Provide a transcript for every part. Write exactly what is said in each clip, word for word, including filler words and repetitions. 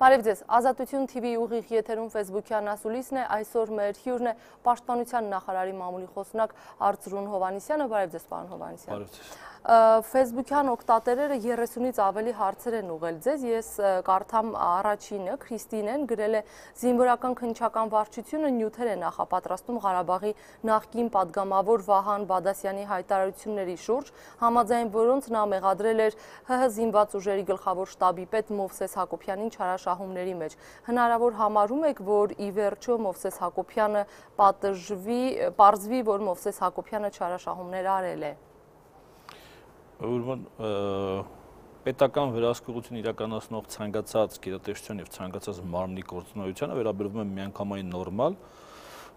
Բարև ձեզ, Ազատություն թիվի ուղիղ եթերում Facebook-յան ասուլիսն է, այսօր մեր հյուրն է Պաշտպանության նախարարի մամուլի խոսնակ Արծրուն Հովհաննիսյանը, բարև ձեզ պարոն Հովհաննիսյան։ Բարև ձեզ։ Facebook-յան օգտատերերը երեսունից ավելի հարցեր են ուղղել ձեզ, ես կարդամ առաջինը, Քրիստինեն գրել է զինվորական քննչական վարչությունը նյութեր է նախապատրաստում Ղարաբաղի նախկին падգամավոր Վահան Բադասյանի հայտարարությունների շուրջ, համաձայն որոնց նա մեղադրել էր ՀՀ զինված ուժերի գլխավոր շտաբի պետ Մովսես Հակոբյանին չարաշահումների մեջ։ Հնարավոր համարում եք, որ ի վերջո Մովսես Հակոբյանը պատժվի, պարզվի, որ Մովսես Հակոբյանը չարաշահումներ արել է։ Ուրեմն պետական վերահսկողություն իրականացնող ցանկացած գերատեսչության եւ ցանկացած մարմնի գործունեությանը վերաբերվում է միանգամայն նորմալ,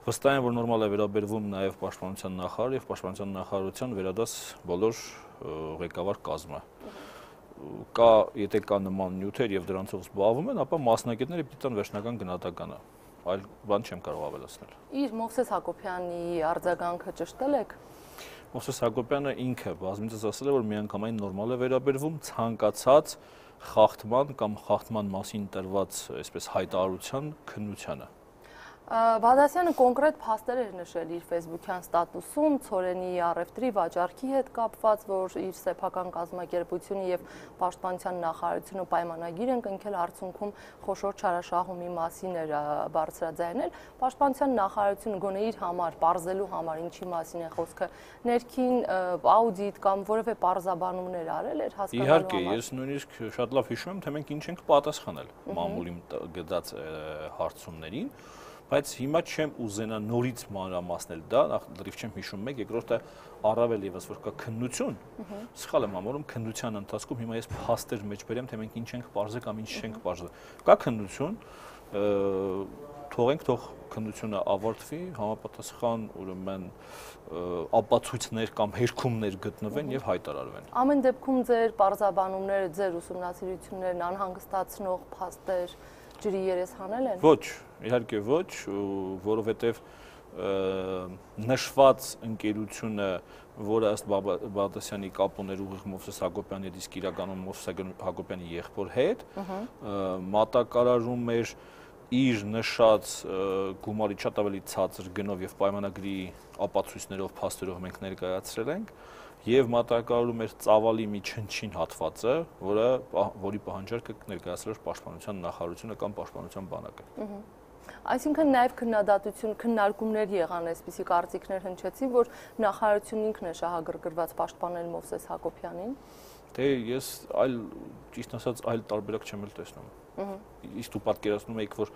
վստահ եմ, որ նորմալ է վերաբերվում նաեւ Պաշտպանության նախարար եւ Պաշտպանության նախարարության վերադաս բոլոր ղեկավար կազմը։ Կա, եթե կա նման նյութեր եւ դրանցով զբաղվում են, ապա մասնագետները պիտի տան վերջնական գնահատականը, այլ բան չեմ կարող ավելացնել։ Իր Մովսես Հակոբյանի արձագանքը ճշտել եք։ Մովսես Հակոբյանը ինքը բազմիցս ասել է, որ միանգամայն նորմալ է վերաբերվում ցանկացած խախտման կամ խախտման մասին տրված, այսպես հայտարարության քննությանը։ Բադասյանը կոնկրետ փաստեր էր նշել իր Facebook-յան ստատուսում ցորենի առևտրի վաճառքի հետ կապված, որ իր սեփական կազմակերպությունը եւ Պաշտպանության նախարարությունը պայմանագիր են կնքել, արդյունքում խոշոր չարաշահումի մասին էր բարձրաձայնել։ Պաշտպանության նախարարությունը գոնե իր համար պարզելու համար ինչի մասին է խոսքը, ներքին աուդիտ կամ որևէ պարզաբանումներ արել էր հասկանալու համար։ Իհարկե, ես նույնիսկ շատ լավ հիշում եմ, թե մենք ինչ ենք պատասխանել մամուլի գծած հարցումներին։ Բայց հիմա չեմ ուզենա նորից մանրամասնել դա, նախ լրիվ չեմ հիշում մեկ, երկրորդը առավել եւս որ կա քննություն, սխալ եմ համարում քննության ընթացքում հիմա ես փաստեր մեջ բերեմ, թե մենք ինչ ենք պարզել կամ ինչ չենք պարզել։ Կա քննություն, թողենք թող քննությունը ավարտվի, համապատասխան ուրեմն ապացույցներ կամ հերքումներ գտնվեն եւ հայտարարվեն։ Ամեն դեպքում ձեր պարզաբանումները, ձեր ուսումնասիրություններն անհանգստացնող փաստեր ջրի երես հանել են։ Ոչ, իհարկե ոչ, որովհետև նշված ընկերությունը, որը ըստ Բադասյանի կապ ուներ ուղիղ Մովսես Հակոբյանի հետ, իսկ իրականում Մովսես Հակոբյանի եղբոր հետ, մատակարարում էր իր նշած գումարի շատ ավելի ցածր գնով եւ պայմանագրի ապացույցներով, փաստերով մենք ներկայացրել ենք եւ մատակարարում էր ծավալի մի չնչին հատվածը, որը որի պահանջարկը ներկայացրել էր Պաշտպանության նախարարությունը կամ Պաշտպանության բանակը։ Այսինքն նաև քննադատություն, քննարկումներ եղան, այսպիսի կարծիքներ հնչեցին, որ նախարարությունն ինքն է շահագրգռված պաշտպանել Մովսես Հակոբյանին։ Դե ես այլ ճիշտ ասած այլ տարբերակ չեմ էլ տեսնում։ Իսկ դու պատկերացնում եք, որ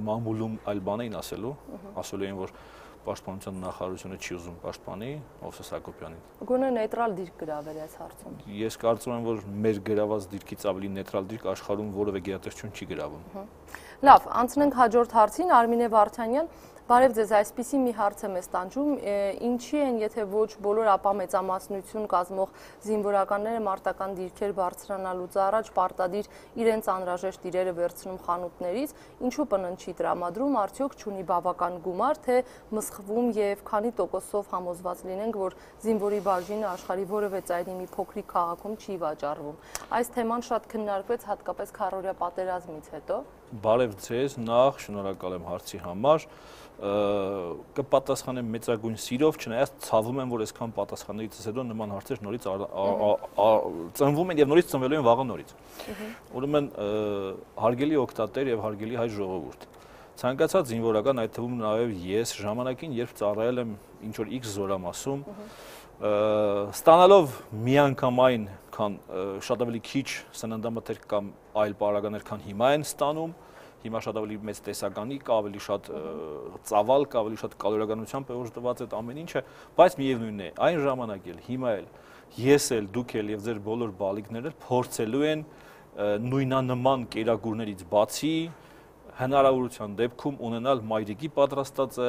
մամուլում այլ բան էին ասելու, ասելու էին, որ Պաշտպանության նախարարությունը չի ուզում պաշտպանի Մովսես Հակոբյանին։ Գոնե նեյտրալ դիրք գրավել այս հարցում։ Ես կարծում եմ, որ մեր գրաված դիրքից ավելի նեյտրալ դիրք աշխարհում որևէ գերատեսչություն չի գրավում։ Լավ, անցնենք հաջորդ հարցին, Արմինե Վարդանյան, բարև ձեզ, այսպիսի մի հարց եմ ստանջում, ինչի են, եթե ոչ բոլոր ապա մեծամասնություն կազմող զինվորականները մարտական դիրքեր բարձրանալուց առաջ պարտադիր իրենց անհրաժեշտ իրերը վերցնում խանութներից, ինչու պննչի տրամադրում, արդյոք չունի բավական գումար, թե մսխվում եւ քանի տոկոսով համոզված լինենք, որ զինվորի բաժինը աշխարհի որևէ ծայրի մի փոքրիկ քաղաքում չի վաճառվում։ Այս թեման շատ քննարկվեց հատկապես քառօրյա պատերազմից հետո։ Բարև ձեզ, նախ շնորհակալ եմ հարցի համար, կպատասխանեմ մեծագույն սիրով, չնայած ցավում եմ, որ այսքան պատասխաններից հետո նման հարցեր նորից ծնվում են եւ նորից ծնվելու են վաղը նորից։ Ուրեմն հարգելի օգտատեր եւ հարգելի հայ ժողովուրդ, ցանկացած զինվորական, այդ թվում նաեւ ես ժամանակին, երբ ծառայել եմ ինչ որ X զորամասում, ստանալով միանգամայն քան շատ ավելի քիչ սննդամթերք կամ այլ պարագաներ, քան հիմա են ստանում, հիմա շատ ավելի մեծ տեսականի կա, ավելի շատ ծավալ կա, ավելի շատ կալորիականությամբ է օժտված այդ ամեն ինչը, բայց միևնույնն է, այն ժամանակ էլ, հիմա էլ, ես էլ, դուք էլ եւ ձեր բոլոր բալիկներն էլ փորձելու են նույնանման կերակուրներից բացի հնարավորության դեպքում ունենալ մայրիկի պատրաստածը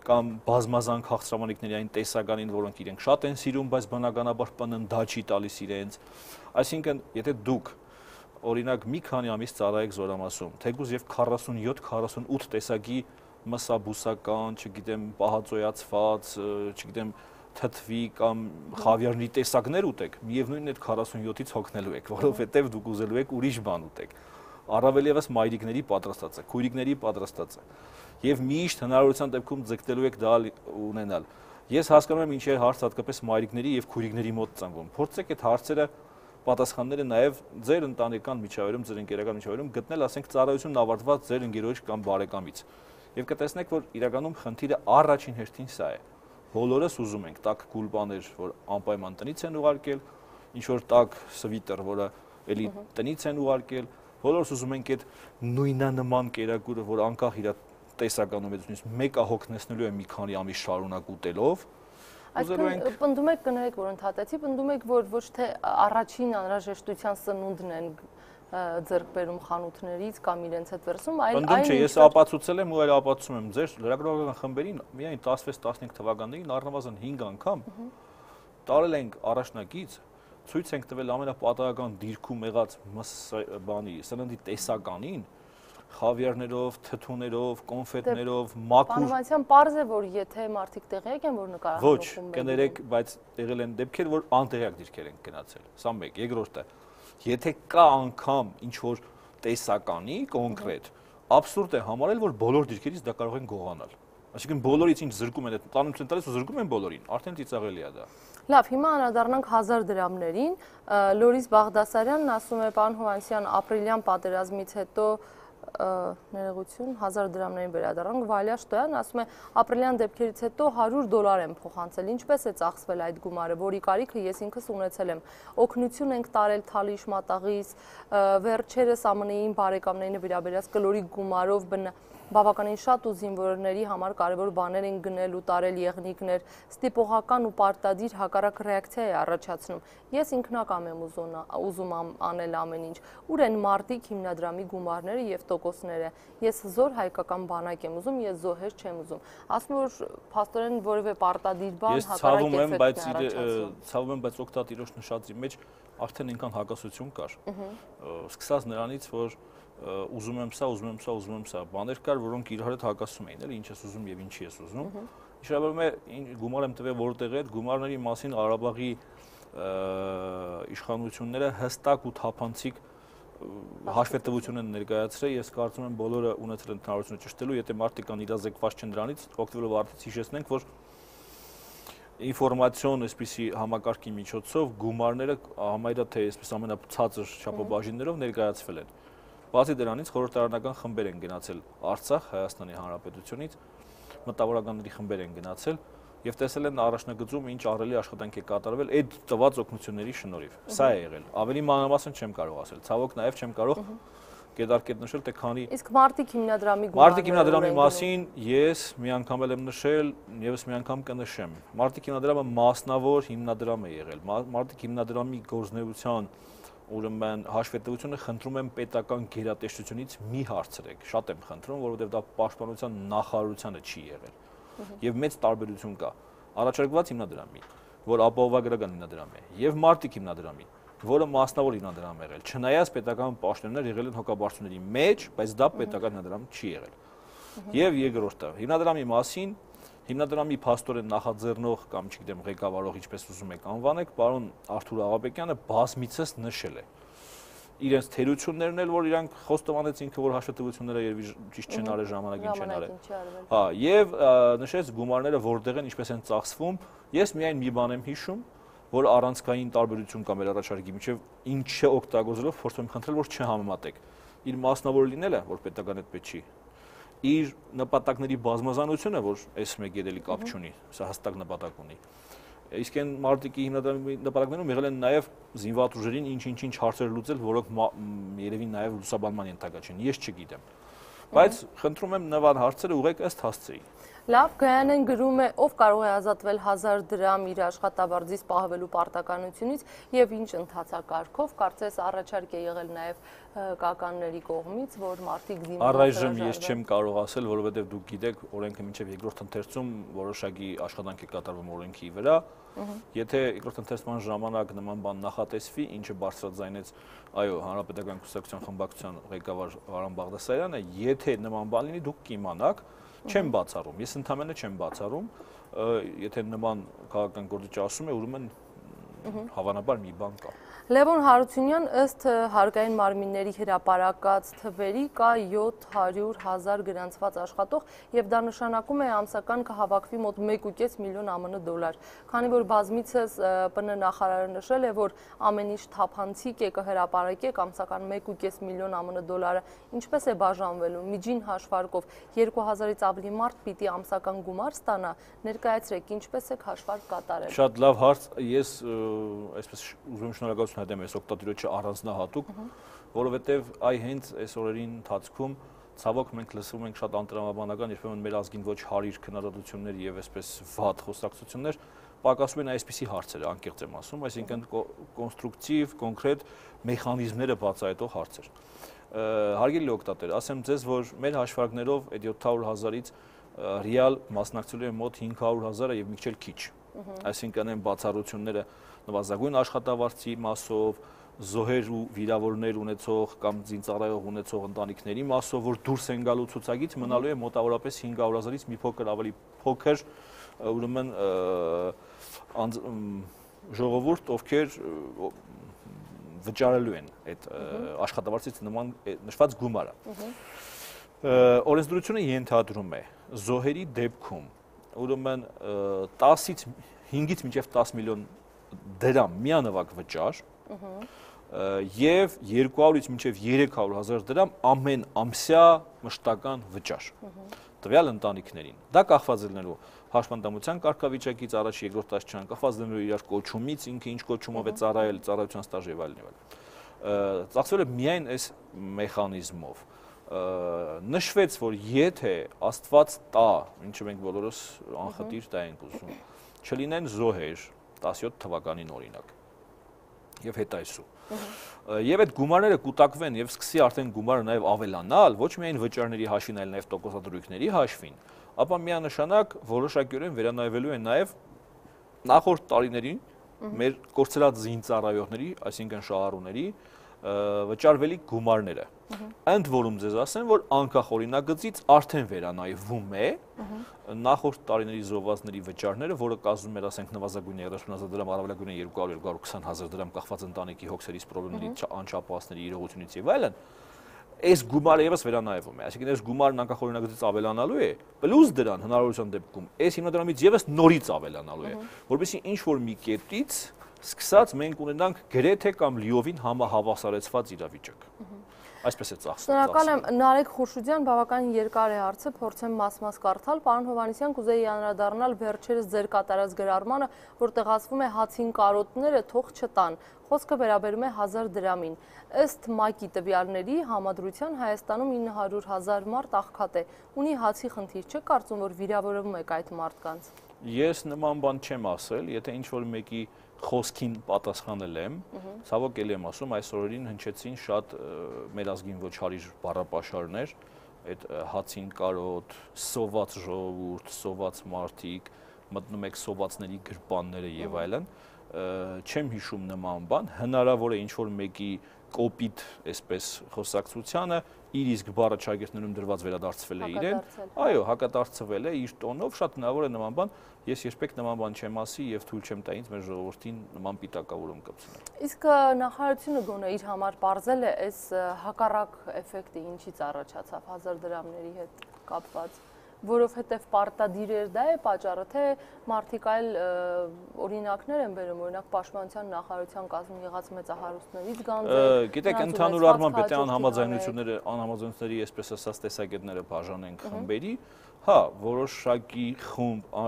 կամ բազմազան քաղցրամանիքների այն տեսականին, որոնք իրենք շատ են սիրում, բայց բնականաբար պնն դա չի տալիս իրենց։ Այսինքն, եթե դուք օրինակ մի քանի ամիս ծառայեք զորամասում, թեկուզ եւ քառասունյոթ քառասունութ տեսակի մսաբուսական, չգիտեմ, պահածոյացված, չգիտեմ, թթվի կամ խավիարների տեսակներ ուտեք, միևնույնն է քառասունյոթից հոգնելու եք, որովհետեւ դուք ուզելու եք ուրիշ բան ուտեք։ առավել եւս մայրիկների պատրաստած է, քույրիկների պատրաստած է։ Եվ միշտ հնարավորության դեպքում ձգտելու եք դա ունենալ։ Ես հասկանում եմ ինչի է հարց հատկապես մայրիկների եւ քույրիկների մոտ ծնվում։ Փորձեք այդ հարցերը պատասխանները նաև ձեր ընտանեկան միջավայրում, ձեր ընկերական միջավայրում գտնել, ասենք, ծառայությունն ավարտված ձեր ընկերոջ կամ բարեկամից։ Եվ կտեսնեք, որ իրականում խնդիրը առաջին հերթին սա է։ Բոլորս ուզում ենք տաք կուլ բաներ, որ անպայման տնից են ուղարկել, ինչ որ տաք սվիտեր, որը էլի տնից են ուղարկել, բոլորս ուզում ենք այդ նույնանման կերակուրը, որ անկախ իր տեսականությունից մեկը հոգնեցնելու է մի քանի ամիս շարունակ ուտելով։ Այսինքն պնդում եք, կներեք, որ ընդհատեցի, պնդում եք, որ ոչ թե առաջին անհրաժեշտության սնունդն են ձեռք բերում խանութներից կամ իրենց հետ վերցնում, այլ այն ինչ ես ապացուցել եմ ու այլ ապացուցում եմ ձեր լրագրողական խմբերին միայն տասնվեց տասնհինգ թվականներին առնվազն հինգ անգամ տարել ենք առաջնակից, ցույց ենք տվել ամենապատահական դիրքում եղած բանի սննդի տեսականին, խավիարներով, թթուներով, կոնֆետներով, մաքուր։ Բանվանության պարզ է, որ եթե մարդիկ տեղյակ են, որ նկարահանում Ոչ, կներեք, բայց եղել են դեպքեր, որ անտեղյակ դիրքեր են գնացել։ Սա մեկ, երկրորդը, եթե կա անգամ ինչ որ տեսականի կոնկրետ, աբսուրդ է համարել, որ բոլոր դիրքերից դա կարող են գողանալ։ Այսինքն բոլորից ինչ զրկում են, տանում են տալիս ու զրկում են բոլորին, արդեն ծիծաղելի է դա։ Լավ, հիմա անդրադառնանք հազար դրամներին։ Լորիս Բաղդասարյանն ասում է, պարոն Հովհաննիսյան, ապրիլյան պատերազմից հետո ներողություն, հազար դրամներին վերադառնանք, Վալյա Շտոյանն ասում է, ապրիլյան դեպքերից հետո հարյուր դոլար եմ փոխանցել, ինչպես է ծախսվել այդ գումարը, որի կարիքը ես ինքս ունեցել եմ, օգնություն ենք տարել Թալիշ մատաղից, վերջերս ԱՄՆ-ին բարեկամներին վերաբերած կլորի գումարով բավականին շատ ու զինվորների համար կարևոր բաներ են գնել ու տարել եղնիկներ, ստիպողական ու պարտադիր հակառակ ռեակցիա է առաջացնում։ Ես ինքնակամ եմ ուզում անել ամեն ինչ։ Ուր են մարտիկ հիմնադրամի գումարները եւ տոկոսները։ Ես զոր հայկական բանակ եմ ուզում, ես զոհեր չեմ ուզում։ Ասում որ փաստորեն որևէ պարտադիր բան հակառակ էֆեկտ է առաջացնում։ Ես ցավում եմ, բայց օկտատիրոջ նշածի մեջ արդեն ինքան հակասություն կար։ Սկսած նրանից, որ ուզում եմ սա, ուզում եմ սա, ուզում եմ սա, բաներ կար, որոնք իրար հետ հակասում էին, էլի ինչ ես ուզում եւ ինչի ես ուզում։ Իշարաբերում է գումար եմ տվել որտեղ է, գումարների մասին Ղարաբաղի իշխանությունները հստակ ու թափանցիկ հաշվետվություն են ներկայացրել, ես կարծում եմ բոլորը ունեցել են հնարավորություն ճշտելու, եթե մարդիկ կան իրազեկված չեն դրանից, օգտվելով արդից հիշեցնենք, որ ինֆորմացիոն այսպիսի համակարգի միջոցով գումարները համարյա թե այսպես ամենացածր չափաբաժիններով ներկայացվել են։ Բացի դրանից խորհրդարանական խմբեր են գնացել Արցախ, Հայաստանի Հանրապետությունից, մտավորականների խմբեր են գնացել եւ տեսել են առաջնագծում ինչ ահռելի աշխատանք է կատարվել այդ տված օգնությունների շնորհիվ։ Սա է եղել։ Ավելի մանրամասն չեմ կարող ասել։ Ցավոք նաեւ չեմ կարող կետարկետ նշել, թե քանի Իսկ մարտիկ հիմնադրամի գումարները Մարտիկ հիմնադրամի մասին ես մի անգամ եմ նշել, եւս մի անգամ կնշեմ։ Մարտիկ հիմնադրամը մասնավոր հիմնադրամ է եղել։ Մարտիկ հիմնադրամի գործունեության ուրեմն հաշվետվությունը խնդրում եմ պետական գերատեսչությունից մի հարցրեք, շատ եմ խնդրում, որովհետև դա պաշտպանության նախարարությանը չի եղել։ Եվ մեծ տարբերություն կա առաջարկված հիմնադրամի, որ ապահովագրական հիմնադրամ է, եւ մարտիկ հիմնադրամի, որը մասնավոր հիմնադրամ է եղել, չնայած պետական պաշտոնյաներ եղել են հոգաբարձությունների մեջ, բայց դա պետական հիմնադրամ չի եղել։ Եվ երկրորդը, հիմնադրամի մասին Հիմնադրամի փաստորեն նախաձեռնող կամ չգիտեմ ղեկավարող ինչպես ուզում եք անվանեք, պարոն Արթուր Աղաբեկյանը բազմիցս նշել է իրենց թերություններն էլ, որ իրանք խոստովանեց ինքը, որ հաշվետվությունները երևի ճիշտ չեն արել, ժամանակին չեն արել։ Հա, եւ նշեց գումարները որտեղ են, ինչպես են ծախսվում։ Ես միայն մի բան եմ հիշում, որ առանցքային տարբերություն կա մեր առաջարկի միջև, ինչը օգտագործելով փորձում եմ խնդրել, որ չհամեմատեք։ Իր մասնավոր լինելը, որ պետական այդպես չի, իր նպատակների բազմազանությունը, որ այս մեկ երելի կապ չունի, սա հստակ նպատակ ունի։ Իսկ այն մարտիկի հիմնադրամի նպատակներում եղել են նաև զինված ուժերին ինչ-ինչ-ինչ հարցեր լուծել, որոնք երևի նաև լուսաբանման ենթակա չեն, ես չգիտեմ։ Բայց խնդրում եմ նման հարցերը ուղղեք ըստ հասցեի։ Լավ, Գայանեն գրում է, ով կարող է ազատվել հազար դրամ իր աշխատավարձից պահվելու պարտականությունից եւ ինչ ընթացակարգով, կարծես առաջարկ է եղել նաեւ կականների կողմից, որ մարդիկ զինվորներ Առայժմ ես չեմ կարող ասել, որովհետեւ դուք գիտեք, օրենքը մինչեւ երկրորդ ընթերցում որոշակի աշխատանք է կատարվում օրենքի վրա։ Եթե երկրորդ ընթերցման ժամանակ նման բան նախատեսվի, ինչը բարձրաձայնեց, այո, Հանրապետական կուսակցության խմբակցության ղեկավար Վարան Բաղդասարյանը, եթե նման բան լինի, դուք կիմանաք, չեմ բացառում, ես ընդհանրապես չեմ բացառում, եթե նման քաղաքական գործիչ ասում է, ուրեմն Հավանաբար մի բան կա։ Լևոն Հարությունյան, ըստ հարկային մարմինների հրապարակած թվերի կա յոթ հարյուր հազար գրանցված աշխատող եւ դա նշանակում է ամսական կհավաքվի մոտ մեկ ու կես միլիոն ԱՄՆ դոլար։ Քանի որ բազմիցս ՊՆ նախարարը նշել է, որ ամեն ինչ թափանցիկ է կհրապարակեք ամսական մեկ ու կես միլիոն ԱՄՆ դոլարը, ինչպես է բաժանվելու, միջին հաշվարկով երկու հազարից ավելի մարդ պիտի ամսական գումար ստանա, ներկայացրեք, ինչպես եք հաշվարկ կատարել։ Շատ լավ հարց, ես այսպես ուզում եմ շնորհակալություն հայտնել այս օգտատիրոջը առանձնահատուկ, որովհետև այ հենց այս օրերին ընթացքում ցավոք մենք լսում ենք շատ անտրամաբանական, երբեմն մեր ազգին ոչ հարիր քննադատություններ եւ այսպես վատ խոսակցություններ, պակասում են այսպիսի հարցերը, անկեղծ եմ ասում, այսինքն կոնստրուկտիվ, կոնկրետ մեխանիզմները բացահայտող հարցեր։ Հարգելի օգտատեր, ասեմ ձեզ, որ մեր հաշվարկներով այդ յոթ հարյուր հազարից ռեալ մասնակցելու են մոտ հինգ հարյուր հազարը եւ մի քիչ քիչ։ Այսինքն այն բացառությունները նվազագույն աշխատավարձի մասով, զոհեր ու վիրավորներ ունեցող կամ զինծառայող ունեցող ընտանիքների մասով, որ դուրս են գալու ցուցակից, մնալու է մոտավորապես հինգ հարյուր հազարից մի փոքր ավելի փոքր, ուրեմն ժողովուրդ, ովքեր վճարելու են այդ աշխատավարձից նման նշված գումարը։ Օրենսդրությունը ենթադրում է զոհերի դեպքում ուրեմն տասից հինգից մինչև տաս միլիոն դրամ միանվագ վճար եւ երկու հարյուրից մինչև երեք հարյուր հազար դրամ ամեն ամսյա մշտական վճար տվյալ ընտանիքներին։ Դա կախված է լինելու հաշվանդամության կարգավիճակից, առաջ երկրորդ աստիճան, կախված լինելու իրար կոչումից, ինքը ինչ կոչումով է ծառայել, ծառայության ստաժ եւ այլն եւ այլն։ Ծախսվել է միայն այս մեխանիզմով։ Նշվեց, որ եթե Աստված տա, ինչը մենք բոլորս անխտիր դա ենք ուզում, չլինեն զոհեր տասյոթ թվականին օրինակ եւ հետայսու։ Եվ այդ գումարները կուտակվեն եւ սկսի արդեն գումարը նաեւ ավելանալ, ոչ միայն վճարների հաշվին, այլ նաեւ տոկոսադրույքների հաշվին, ապա միանշանակ որոշակիորեն վերանայվելու են նաեւ նախորդ տարիներին մեր կորցրած զինծառայողների, այսինքն շահառուների վճարվելի գումարները։ Ընդ որում ձեզ ասեմ, որ անկախ օրինագծից արդեն վերանայվում է նախորդ տարիների զոհվածների վճարները, որը կազմում էր, ասենք, նվազագույնը երեսուն հազար դրամ, առավելագույնը երկու հարյուր երկու հարյուր քսան հազար դրամ, կախված ընտանիքի հոգսերից, պրոբլեմների, անչափահասների իրողությունից եւ այլն, այս գումարը եւս վերանայվում է, այսինքն այս գումարն անկախ օրինագծից ավելանալու է, պլյուս դրան հնարավորության դեպքում այս հիմնադրամից եւս նորից ավելանալու է, որովհետեւ ինչ որ մի կետից սկսած մենք ունենանք գրեթե կամ լիովին համահավասարեցված իրավիճակ։ Այսպես է ծախսը։ Շնորհակալ եմ, Նարեկ Խուշուդյան, բավականին երկար է հարցը, փորձեմ մաս-մաս կարդալ։ Պարոն Հովհաննիսյան, կուզեի անդրադառնալ վերջերս ձեր կատարած գրառմանը, որ տեղացվում է հացին կարոտները թող չտան։ Խոսքը վերաբերում է հազար դրամին։ Ըստ ՄԱԿ-ի տվյալների համադրության Հայաստանում ինը հարյուր հազար մարդ աղքատ է։ Ունի հացի խնդիր, չէ՞ կարծում, որ վիրավորվում եք այդ մարդկանց։ Ես նման բան չեմ ասել, եթե ինչ-որ մեկի խոսքին պատասխանել եմ, ցավոք էլի եմ ասում, այս օրերին հնչեցին շատ մեր ազգին ոչ հարիր բառապաշարներ, այդ հացին կարոտ, սոված ժողովուրդ, սոված մարդիկ, մտնում եք սովածների գրպանները եւ այլն, չեմ հիշում նման բան, հնարավոր է ինչ-որ մեկի կոպիտ այսպես խոսակցությանը իր իսկ բառը ճագերտներում դրված վերադարձվել է իրեն, այո, հակադարձվել է իր տոնով, շատ հնարավոր է նման բան, ես երբեք նման բան չեմ ասի եւ թույլ չեմ տա ինձ մեր ժողովրդին նման պիտակավորում կպցնել։ Իսկ նախարարությունը գոնե իր համար բարձել է այս հակառակ էֆեկտը ինչից առաջացավ հազար դրամների հետ կապված, որովհետև պարտադիր էր դա է պատճառը, թե մարդիկ այլ օրինակներ են բերում, օրինակ պաշտպանության նախարարության կազմում եղած մեծահարուստներից գանձեր։ Գիտեք, ընդհանուր առմամբ եթե անհամաձայնությունները, անհամաձայնությունների, այսպես ասած, տեսակետները բաժանենք խմբերի, հա, որոշակի խումբ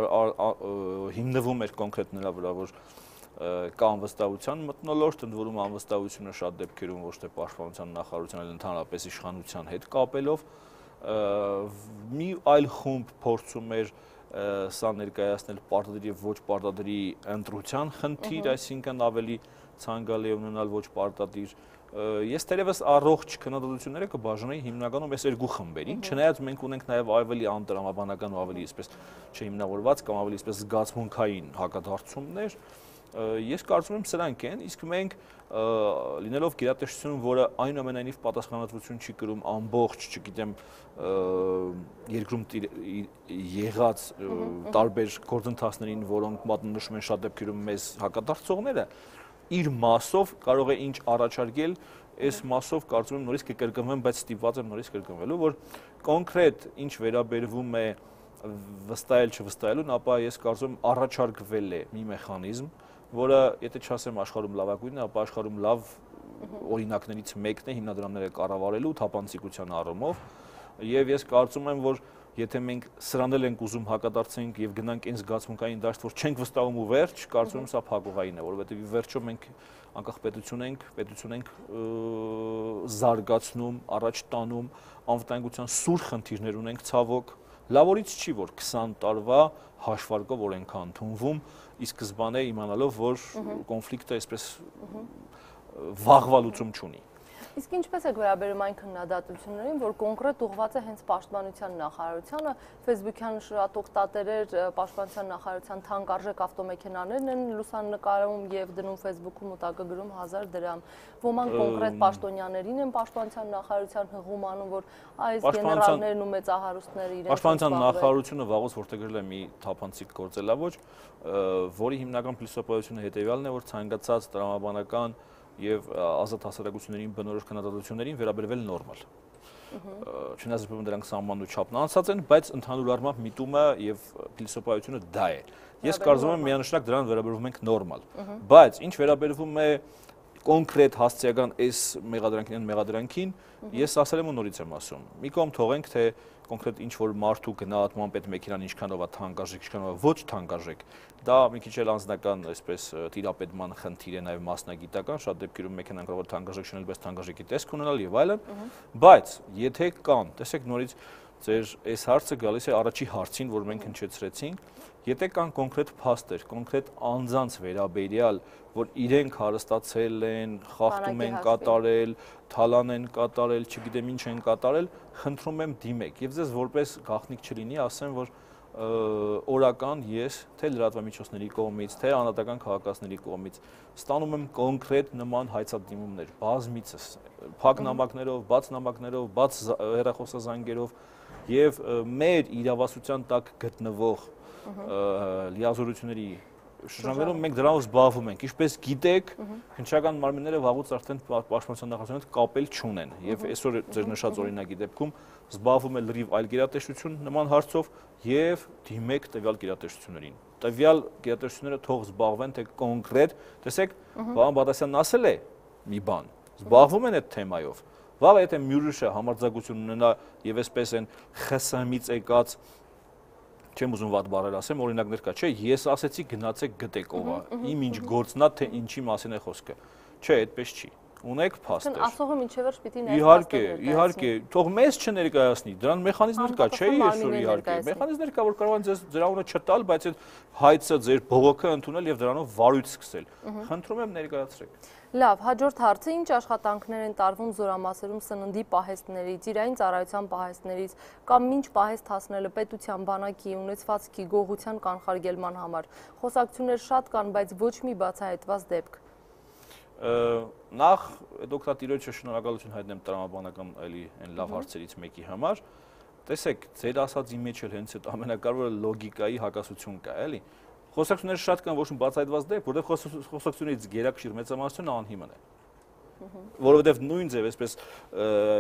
հիմնվում էր կոնկրետ նրա վրա, որ կա անվստահության մթնոլորտ, ընդ որում անվստահությունը շատ դեպքերում ոչ թե պաշտպանության նախարարության, այլ ընդհանրապես իշխանության հետ կապելով մի այլ խումբ փորձում էր սա ներկայացնել պարտադիր եւ ոչ պարտադիրի ընտրության խնդիր, այսինքն ավելի ցանկալի է ունենալ ոչ պարտադիր։ Ես թերևս առողջ քննադատությունները կբաժանեի հիմնականում այս երկու խմբերին, չնայած մենք ունենք նաեւ ավելի անտրամաբանական ու ավելի այսպես չհիմնավորված կամ ավելի այսպես զգացմունքային հակադարձումներ, Ես կարծում եմ սրանք են, իսկ մենք լինելով գերատեսչություն, որը այնուամենայնիվ պատասխանատվություն չի կրում ամբողջ, չգիտեմ, երկրում եղած տարբեր գործընթացներին, որոնք մատնանշում են շատ դեպքերում մեզ հակադարձողները, իր մասով կարող է ինչ առաջարկել, այս մասով կարծում եմ նորից կկրկնվեմ, բայց ստիպված եմ նորից կրկնվելու, որ կոնկրետ ինչ վերաբերվում է վստահել չվստահելուն, ապա ես կարծում եմ առաջարկվել է մի մեխանիզմ, որը եթե չասեմ աշխարհում լավագույնն է, ապա աշխարհում լավ օրինակներից մեկն է հիմնադրամները կառավարելու թափանցիկության առումով, եւ ես կարծում եմ, որ եթե մենք սրան էլ ենք ուզում հակադարձենք եւ գնանք այն զգացմունքային դաշտ, որ չենք վստահում ու վերջ, կարծում եմ սա փակուղային է, որովհետեւ ի վերջո մենք անկախ պետություն ենք, պետություն ենք զարգացնում, առաջ տանում, անվտանգության սուր խնդիրներ ունենք ցավոք, լավորից չի, որ քսան տարվա հաշվարկով օրենք ընդունվում, ի սկզբանե իմանալով, որ կոնֆլիկտը այսպես վաղվա լուծում չունի։ Իսկ ինչպես եք վերաբերում այն քննադատություններին, որ կոնկրետ ուղղված է հենց Պաշտպանության նախարարությանը, Facebook-յան շատ օգտատերեր Պաշտպանության նախարարության թանկարժեք ավտոմեքենաներն են լուսանկարում եւ դնում Facebook-ում ու տակը գրում հազար դրամ։ Ոմանք կոնկրետ պաշտոնյաներին են Պաշտպանության նախարարության հղում անում, որ այս գեներալներն ու մեծահարուստները իրենց Պաշտպանության նախարարությունը վաղուց որտեղել է մի թափանցիկ գործելավոճ, որի հիմնական փիլիսոփայությունը հետեւյալն է, որ ցանկացած տրամաբանական եւ ազատ հասարակություններին բնորոշ քննադատություններին վերաբերվել նորմալ։ Չնայած դրանք սահմանու չափն անցած են, բայց ընդհանուր առմամբ միտումը եւ փիլիսոփայությունը դա է։ Ես կարծում եմ միանշանակ դրան վերաբերվում ենք նորմալ։ Բայց ինչ վերաբերվում է կոնկրետ հասցեական այս մեղադրանքին, մեղադրանքին, ես ասել եմ ու նորից եմ ասում։ Մի կողմ թողենք, թե կոնկրետ ինչ որ մարդու գնահատման պետ մեքենան ինչքանով է թանկարժեք, ինչքանով է ոչ թանկարժեք, դա մի քիչ էլ անձնական այսպես տիրապետման խնդիր է, նաև մասնագիտական, շատ դեպքերում մեքենան կարող է թանկարժեք շնել, բայց թանկարժեքի տեսք ունենալ եւ այլն, բայց եթե կան, տեսեք նորից ձեր այս հարցը գալիս է առաջի հարցին, որ մենք հնչեցրեցինք, եթե կան կոնկրետ փաստեր, կոնկրետ անձանց վերաբերյալ, որ իրենք հարստացել են, խախտում են կատարել, թալան են կատարել, չգիտեմ ինչ են կատարել, խնդրում եմ դիմեք եւ ձեզ որպես գաղտնիք չլինի, ասեմ, որ օրական ես թե լրատվամիջոցների կողմից, թե անհատական քաղաքացիների կողմից ստանում եմ կոնկրետ նման հայցադիմումներ, բազմիցս, փակ նամակներով, բաց նամակներով, բաց հեռախոսազանգերով եւ մեր իրավասության տակ գտնվող լիազորությունների շրջաններում մենք դրանով զբաղվում ենք, ինչպես գիտեք, քննչական մարմինները վաղուց արդեն Պաշտպանության նախարարության հետ կապել չունեն եւ այսօր ձեր նշած օրինակի դեպքում զբաղվում է լրիվ այլ գերատեսչություն նման հարցով եւ դիմեք տվյալ գերատեսչություններին։ Տվյալ գերատեսչությունները թող զբաղվեն թե կոնկրետ, տեսեք, պարոն Բադասյանն ասել է մի բան, զբաղվում են այդ թեմայով։ Վաղ եթե Մյուրիշը համարձակություն ունենա եւ այսպես են ԽՍՀՄ-ից եկած չեմ ուզում վատ բառեր ասեմ, օրինակներ կա, չէ, ես ասեցի գնացեք գտեք ով է, իմ ինչ գործն է, թե ինչի մասին է խոսքը։ Չէ, այդպես չի։ Ունեք փաստեր։ Ասողը մինչև վերջ պիտի Իհարկե, իհարկե, թող մեզ չներկայացնի, դրան մեխանիզմներ կա, չէ, այսօր իհարկե։ Մեխանիզմներ կա, որ կարող են ձեզ ձեր անունը չտալ, բայց այդ հայցը ձեր բողոքը ընդունել եւ դրանով վարույթ սկսել։ Խնդրում եմ ներկայացրեք։ Լավ, հաջորդ հարցը ինչ աշխատանքներ են տարվում զորամասերում սննդի պահեստներից, իրային ծառայության պահեստներից կամ ինչ պահեստ հասնելը պետության բանակի ունեցվածքի գողության կանխարգելման համար։ Խոսակցություններ շատ կան, բայց ոչ մի բացահայտված դեպք։ Նախ դոկտատիրոջը շնորհակալություն հայտնեմ տրամաբանական այլի այն լավ հարցերից մեկի համար։ Տեսեք, ձեր ասածի մեջ էլ հենց այդ ամենակարևորը լոգիկայի հակասություն կա, էլի։ Խոսակցությունները շատ կան, ոչ մի բացահայտված դեպք, որովհետև խոսակցություններից գերակշիռ մեծամասնությունը անհիմն է։ Որովհետև նույն ձև, այսպես,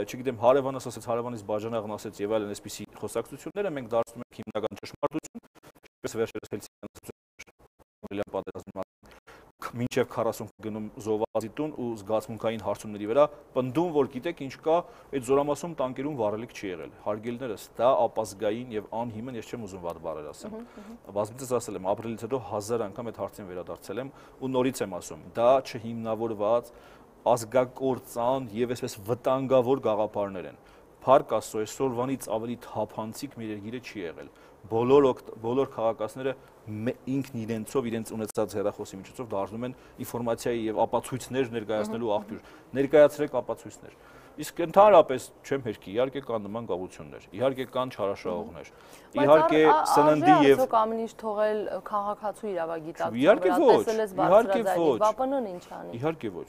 չգիտեմ, հարևանս ասեց, հարևանից բաժանաղն ասեց եւ այլն այսպիսի խոսակցությունները մենք դարձնում ենք հիմնական ճշմարտություն, ինչպես վերջերս Հելսինկիան պատերազմի մինչև քառասուն գնում զոհվածի տուն ու զգացմունքային հարցումների վրա պնդում, որ գիտեք ինչ կա, այդ զորամասում տանկերում վառելիք չի եղել։ Հարգելիներս, դա ապազգային եւ անհիմն, ես չեմ ուզում վատ բառեր ասեմ։ Բազմիցս ասել եմ, ապրիլից հետո հազար անգամ այդ հարցին վերադարձել եմ ու նորից եմ ասում, դա չհիմնավորված ազգակործան եւ այսպես վտանգավոր գաղափարներ են։ Փառք Աստծո, այսօրվանից ավելի թափանցիկ մեր երկիրը չի եղել։ Բոլոր բոլոր քաղաքացիները ինքն իրենցով իրենց ունեցած հեռախոսի միջոցով դառնում են ինֆորմացիայի եւ ապացույցներ ներկայացնելու աղբյուր։ Ներկայացրեք ապացույցներ։ Իսկ ընդհանրապես չեմ հերքի, իհարկե կան նման գաղութություններ, իհարկե կան չարաշահողներ, իհարկե սննդի եւ ամեն ինչ թողել քաղաքացու իրավագիտակցության իհարկե ոչ, իհարկե ոչ, ՎԱՊՆ-ն ինչ անի։ Իհարկե ոչ,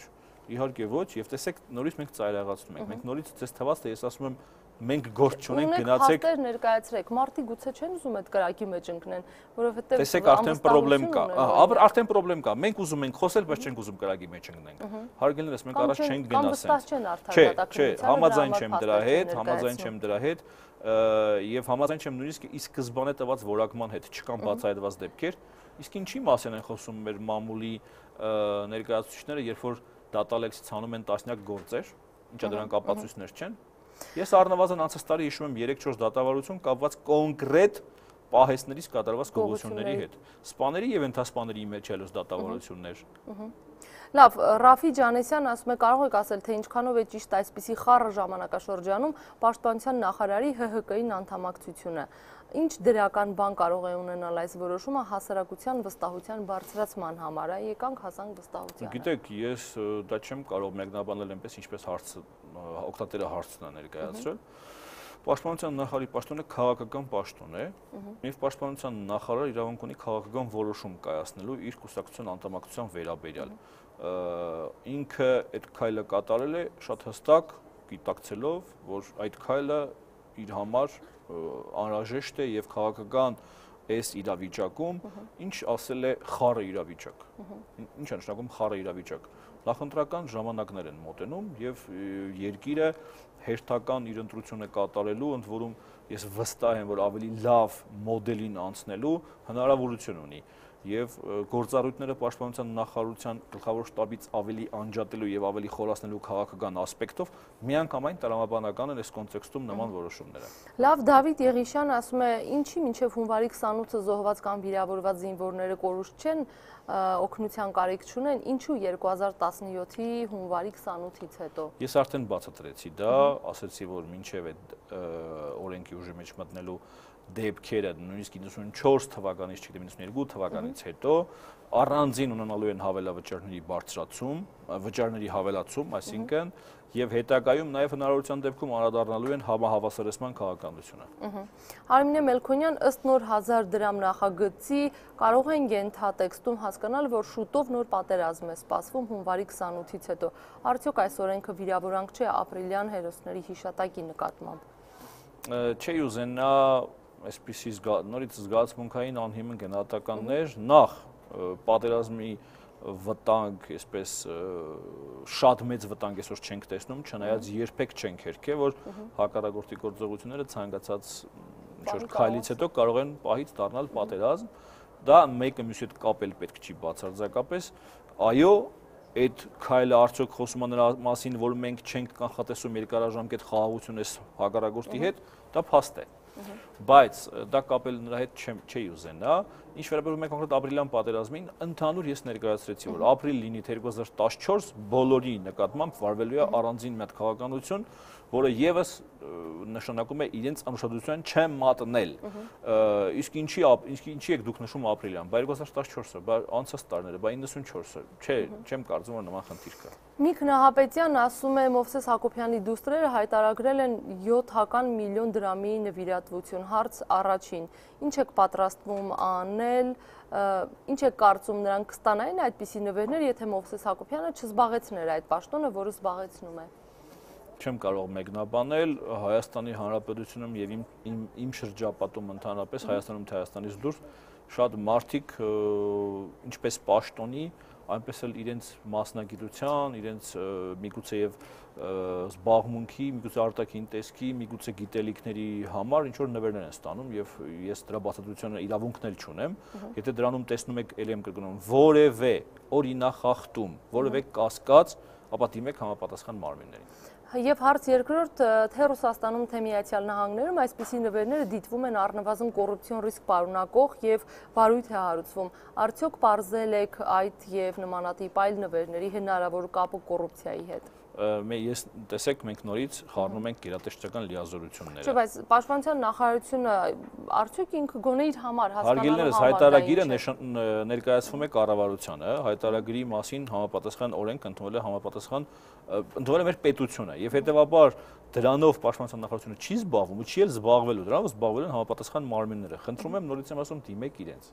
իհարկե ոչ, եւ տեսեք նորից մենք ծայրահեղացնում ենք, մենք նորից ցես թվաց թե ես ասում եմ մենք գործ չունենք գնացեք Ունեք ներկայացրեք, մարդիկ գուցե չեն ուզում այդ կրակի մեջ ընկնեն, որովհետեւ տեսեք արդեն խնդրեմ կա, արդեն խնդրեմ կա, մենք ուզում ենք խոսել, բայց չենք ուզում կրակի մեջ ընկնենք։ Հարգելիներս մենք առաջ չենք գնասենք։ Չէ, չէ, համաձայն չեմ դրա հետ, համաձայն չեմ դրա հետ, եւ համաձայն չեմ նույնիսկ ի սկզբանե տված որակման հետ, չկան բացահայտված դեպքեր, իսկ ինչի մասին են խոսում մեր մամուլի ներկայացուցիչները, երբ որ դատալեքսից անում են տասնյակ գործեր, ինչա դրանք ապացույցներ չեն։ Ես առնվազն անցած տարի հիշում եմ երեք-չորս դատավարություն կապված կոնկրետ պահեստներից կատարված գողությունների հետ։ Սպաների եւ ենթասպաների մեջ ելոց դատավարություններ։ Լավ, Ռաֆի Ջանեսյան ասում է, կարող եք ասել, թե ինչքանով է ճիշտ այսպիսի խառը ժամանակաշրջանում պաշտպանության նախարարի Հ Հ Կ-ին անդամակցությունը։ Ինչ դրական բան կարող է ունենալ այս որոշումը հասարակության վստահության բարձրացման համար, եկանք հասանք վստահությանը։ Գիտեք, ես դա չեմ կարող մեկնաբանել այնպես, ինչպես հարցը օգտատերը հարցն է ներկայացրել։ Պաշտպանության նախարարի պաշտոնը քաղաքական պաշտոն է, եւ պաշտպանության նախարարը իրավունք ունի քաղաքական որոշում կայացնելու իր կուսակցության անդամակցության վերաբերյալ։ Ինքը այդ քայլը կատարել է շատ հստակ, գիտակցելով, որ այդ քայլը իր համար անհրաժեշտ է եւ քաղաքական այս իրավիճակում, ինչ ասել է խառը իրավիճակ։ Ինչ է նշանակում խառը իրավիճակ։ Նախընտրական ժամանակներ են մոտենում եւ երկիրը հերթական իր ընտրությունը կատարելու, ընդ որում ես վստահ եմ, որ ավելի լավ մոդելին անցնելու հնարավորություն ունի եւ գործառույթները պաշտպանության նախարարության գլխավոր շտաբից ավելի անջատելու եւ ավելի խորացնելու քաղաքական ասպեկտով միանգամայն տրամաբանական են այս կոնտեքստում նման որոշումները։ Լավ, Դավիթ Եղիշյան ասում է, ինչի մինչեւ հունվարի քսանութը զոհված կամ վիրավորված զինվորները կորուստ չեն, օգնության կարիք չունեն, ինչու երկու հազար տասնյոթի հունվարի քսանութից հետո։ Ես արդեն բացատրեցի դա, ասացի, որ մինչեւ այդ օրենքի ուժի մեջ մտնելու դեպքերը նույնիսկ իննսունչորս թվականից, չգիտեմ իննսունյոթ թվականից հետո առանձին ունենալու են հավելավճարների բարձրացում, վճարների հավելացում, այսինքն եւ հետագայում նաեւ հնարավորության դեպքում անդրադառնալու են համահավասարեցման քաղաքականությունը։ Արմինե Մելքոնյան, ըստ նոր հազար դրամ նախագծի կարող են ենթատեքստում հասկանալ, որ շուտով նոր պատերազմ է սպասվում հունվարի քսանութից հետո։ Արդյոք այս օրենքը վիրավորանք չէ ապրիլյան հերոսների հիշատակի նկատմամբ։ Չի ուզենա այսպիսի նորից զգացմունքային անհիմն գնահատականներ, նախ պատերազմի վտանգ, այսպես շատ մեծ վտանգ այսօր չենք տեսնում, չնայած երբեք չենք հերքել, որ հակառակորդի գործողությունները ցանկացած ինչ-որ քայլից հետո կարող են պահից դառնալ պատերազմ, դա մեկը մյուսի հետ կապել պետք չի բացարձակապես, այո, այդ քայլը արդյոք խոսում է նրա մասին, որ մենք չենք կանխատեսում երկարաժամկետ խաղաղություն այս հակառակորդի հետ, դա փաստ է։ Բայց դա կապել նրա հետ չի ուզենա, ինչ վերաբերում է կոնկրետ ապրիլյան պատերազմին, ընդհանուր ես ներկայացրեցի, որ ապրիլ լինի երկու հազար տասնչորս բոլորի նկատմամբ վարվելու է առանձին մի հատ քաղաքականություն, որը եւս նշանակում է իրենց անուշադրության չմատնել։ Իսկ ինչի ինչի եք դուք նշում ապրիլյան, բա երկու հազար տասնչորսը, բա անցած տարիները, բա իննսունչորսը, չէ, չեմ կարծում որ նման խնդիր կա։ Միք Նահապետյան ասում է Մովսես Հակոբյանի դուստրերը հայտարարել են յոթ միլիոն դրամի նվիրատվություն, հարց առաջին, ինչ եք պատրաստվում անել, ինչ եք կարծում նրանք կստանային այդպիսի նվերներ, եթե Մովսես Հակոբյանը չզբաղեցներ այդ պաշտոնը, որը զբաղեցնում է։ Չեմ կարող մեկնաբանել Հայաստանի Հանրապետությունում եւ իմ իմ, իմ շրջապատում ընդհանրապես Հայաստանում թե Հայաստանից դուրս շատ մարդիկ ինչպես պաշտոնի, այնպես էլ իրենց մասնագիտության, իրենց միգուցե եւ զբաղմունքի, միգուցե արտաքին տեսքի, միգուցե գիտելիքների համար ինչ որ նվերներ են ստանում եւ ես դրա բացատրությունը իրավունքն էլ չունեմ, եթե դրանում տեսնում եք ել եմ կրկնում որևէ օրինախախտում, որևէ կասկած, ապա դիմեք համապատասխան մարմիններին։ Եվ հարց երկրորդ, թե Ռուսաստանում, թե Միացյալ Նահանգներում այսպիսի նվերները դիտվում են առնվազն կոռուպցիոն ռիսկ պարունակող եւ վարույթ է հարուցվում։ Արդյոք պարզել եք այդ եւ նմանատիպ այլ նվերների հնարավոր կապը կոռուպցիայի հետ։ ես տեսեք մենք նորից խառնում ենք գերատեսչական լիազորությունները։ Չէ, բայց Պաշտպանության նախարարությունը արդյոք ինքը գոնե իր համար հասկանալու համար հայտարարագիրը ներկայացվում է կառավարությանը, հայտարարագրի մասին համապատասխան օրենք ընդունվել է համապատասխան ընդունվել է մեր պետությունը եւ հետեւաբար դրանով Պաշտպանության նախարարությունը չի զբաղվում ու չի էլ զբաղվելու, դրանով զբաղվել են համապատասխան մարմինները։ Խնդրում եմ նորից եմ ասում դիմեք իրենց։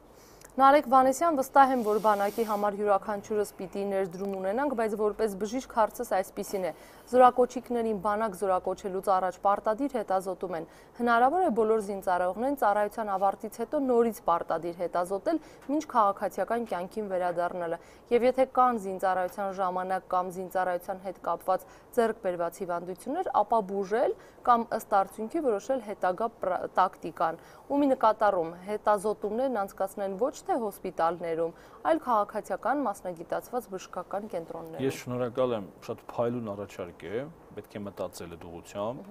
Նարեկ Վանեսյան, վստահ եմ, որ բանակի համար յուրաքանչյուրս պիտի ներդրում ունենանք, բայց որպես բժիշկ հարցս այսպիսին է. զորակոչիկներին բանակ զորակոչելուց առաջ պարտադիր հետազոտում են։ Հնարավոր է բոլոր զինծառայողներին ծառայության ավարտից հետո նորից պարտադիր հետազոտել, մինչ քաղաքացիական կյանքին վերադառնալը։ Եվ եթե կան զինծառայության ժամանակ կամ զինծառայության հետ կապված ձեռք բերված հիվանդություններ, ապա բուժել կամ ըստ արդյունքի որոշել հետագա տակտիկան։ Ումի նկատառում հետազոտումներն անցկացնել ոչ թե հոսպիտալներում, այլ քաղաքացիական մասնագիտացված բժշկական կենտրոններում։ Ես շնորհակալ եմ, շատ փայլուն առաջարկ է, պետք է մտածել այդ ուղղությամբ։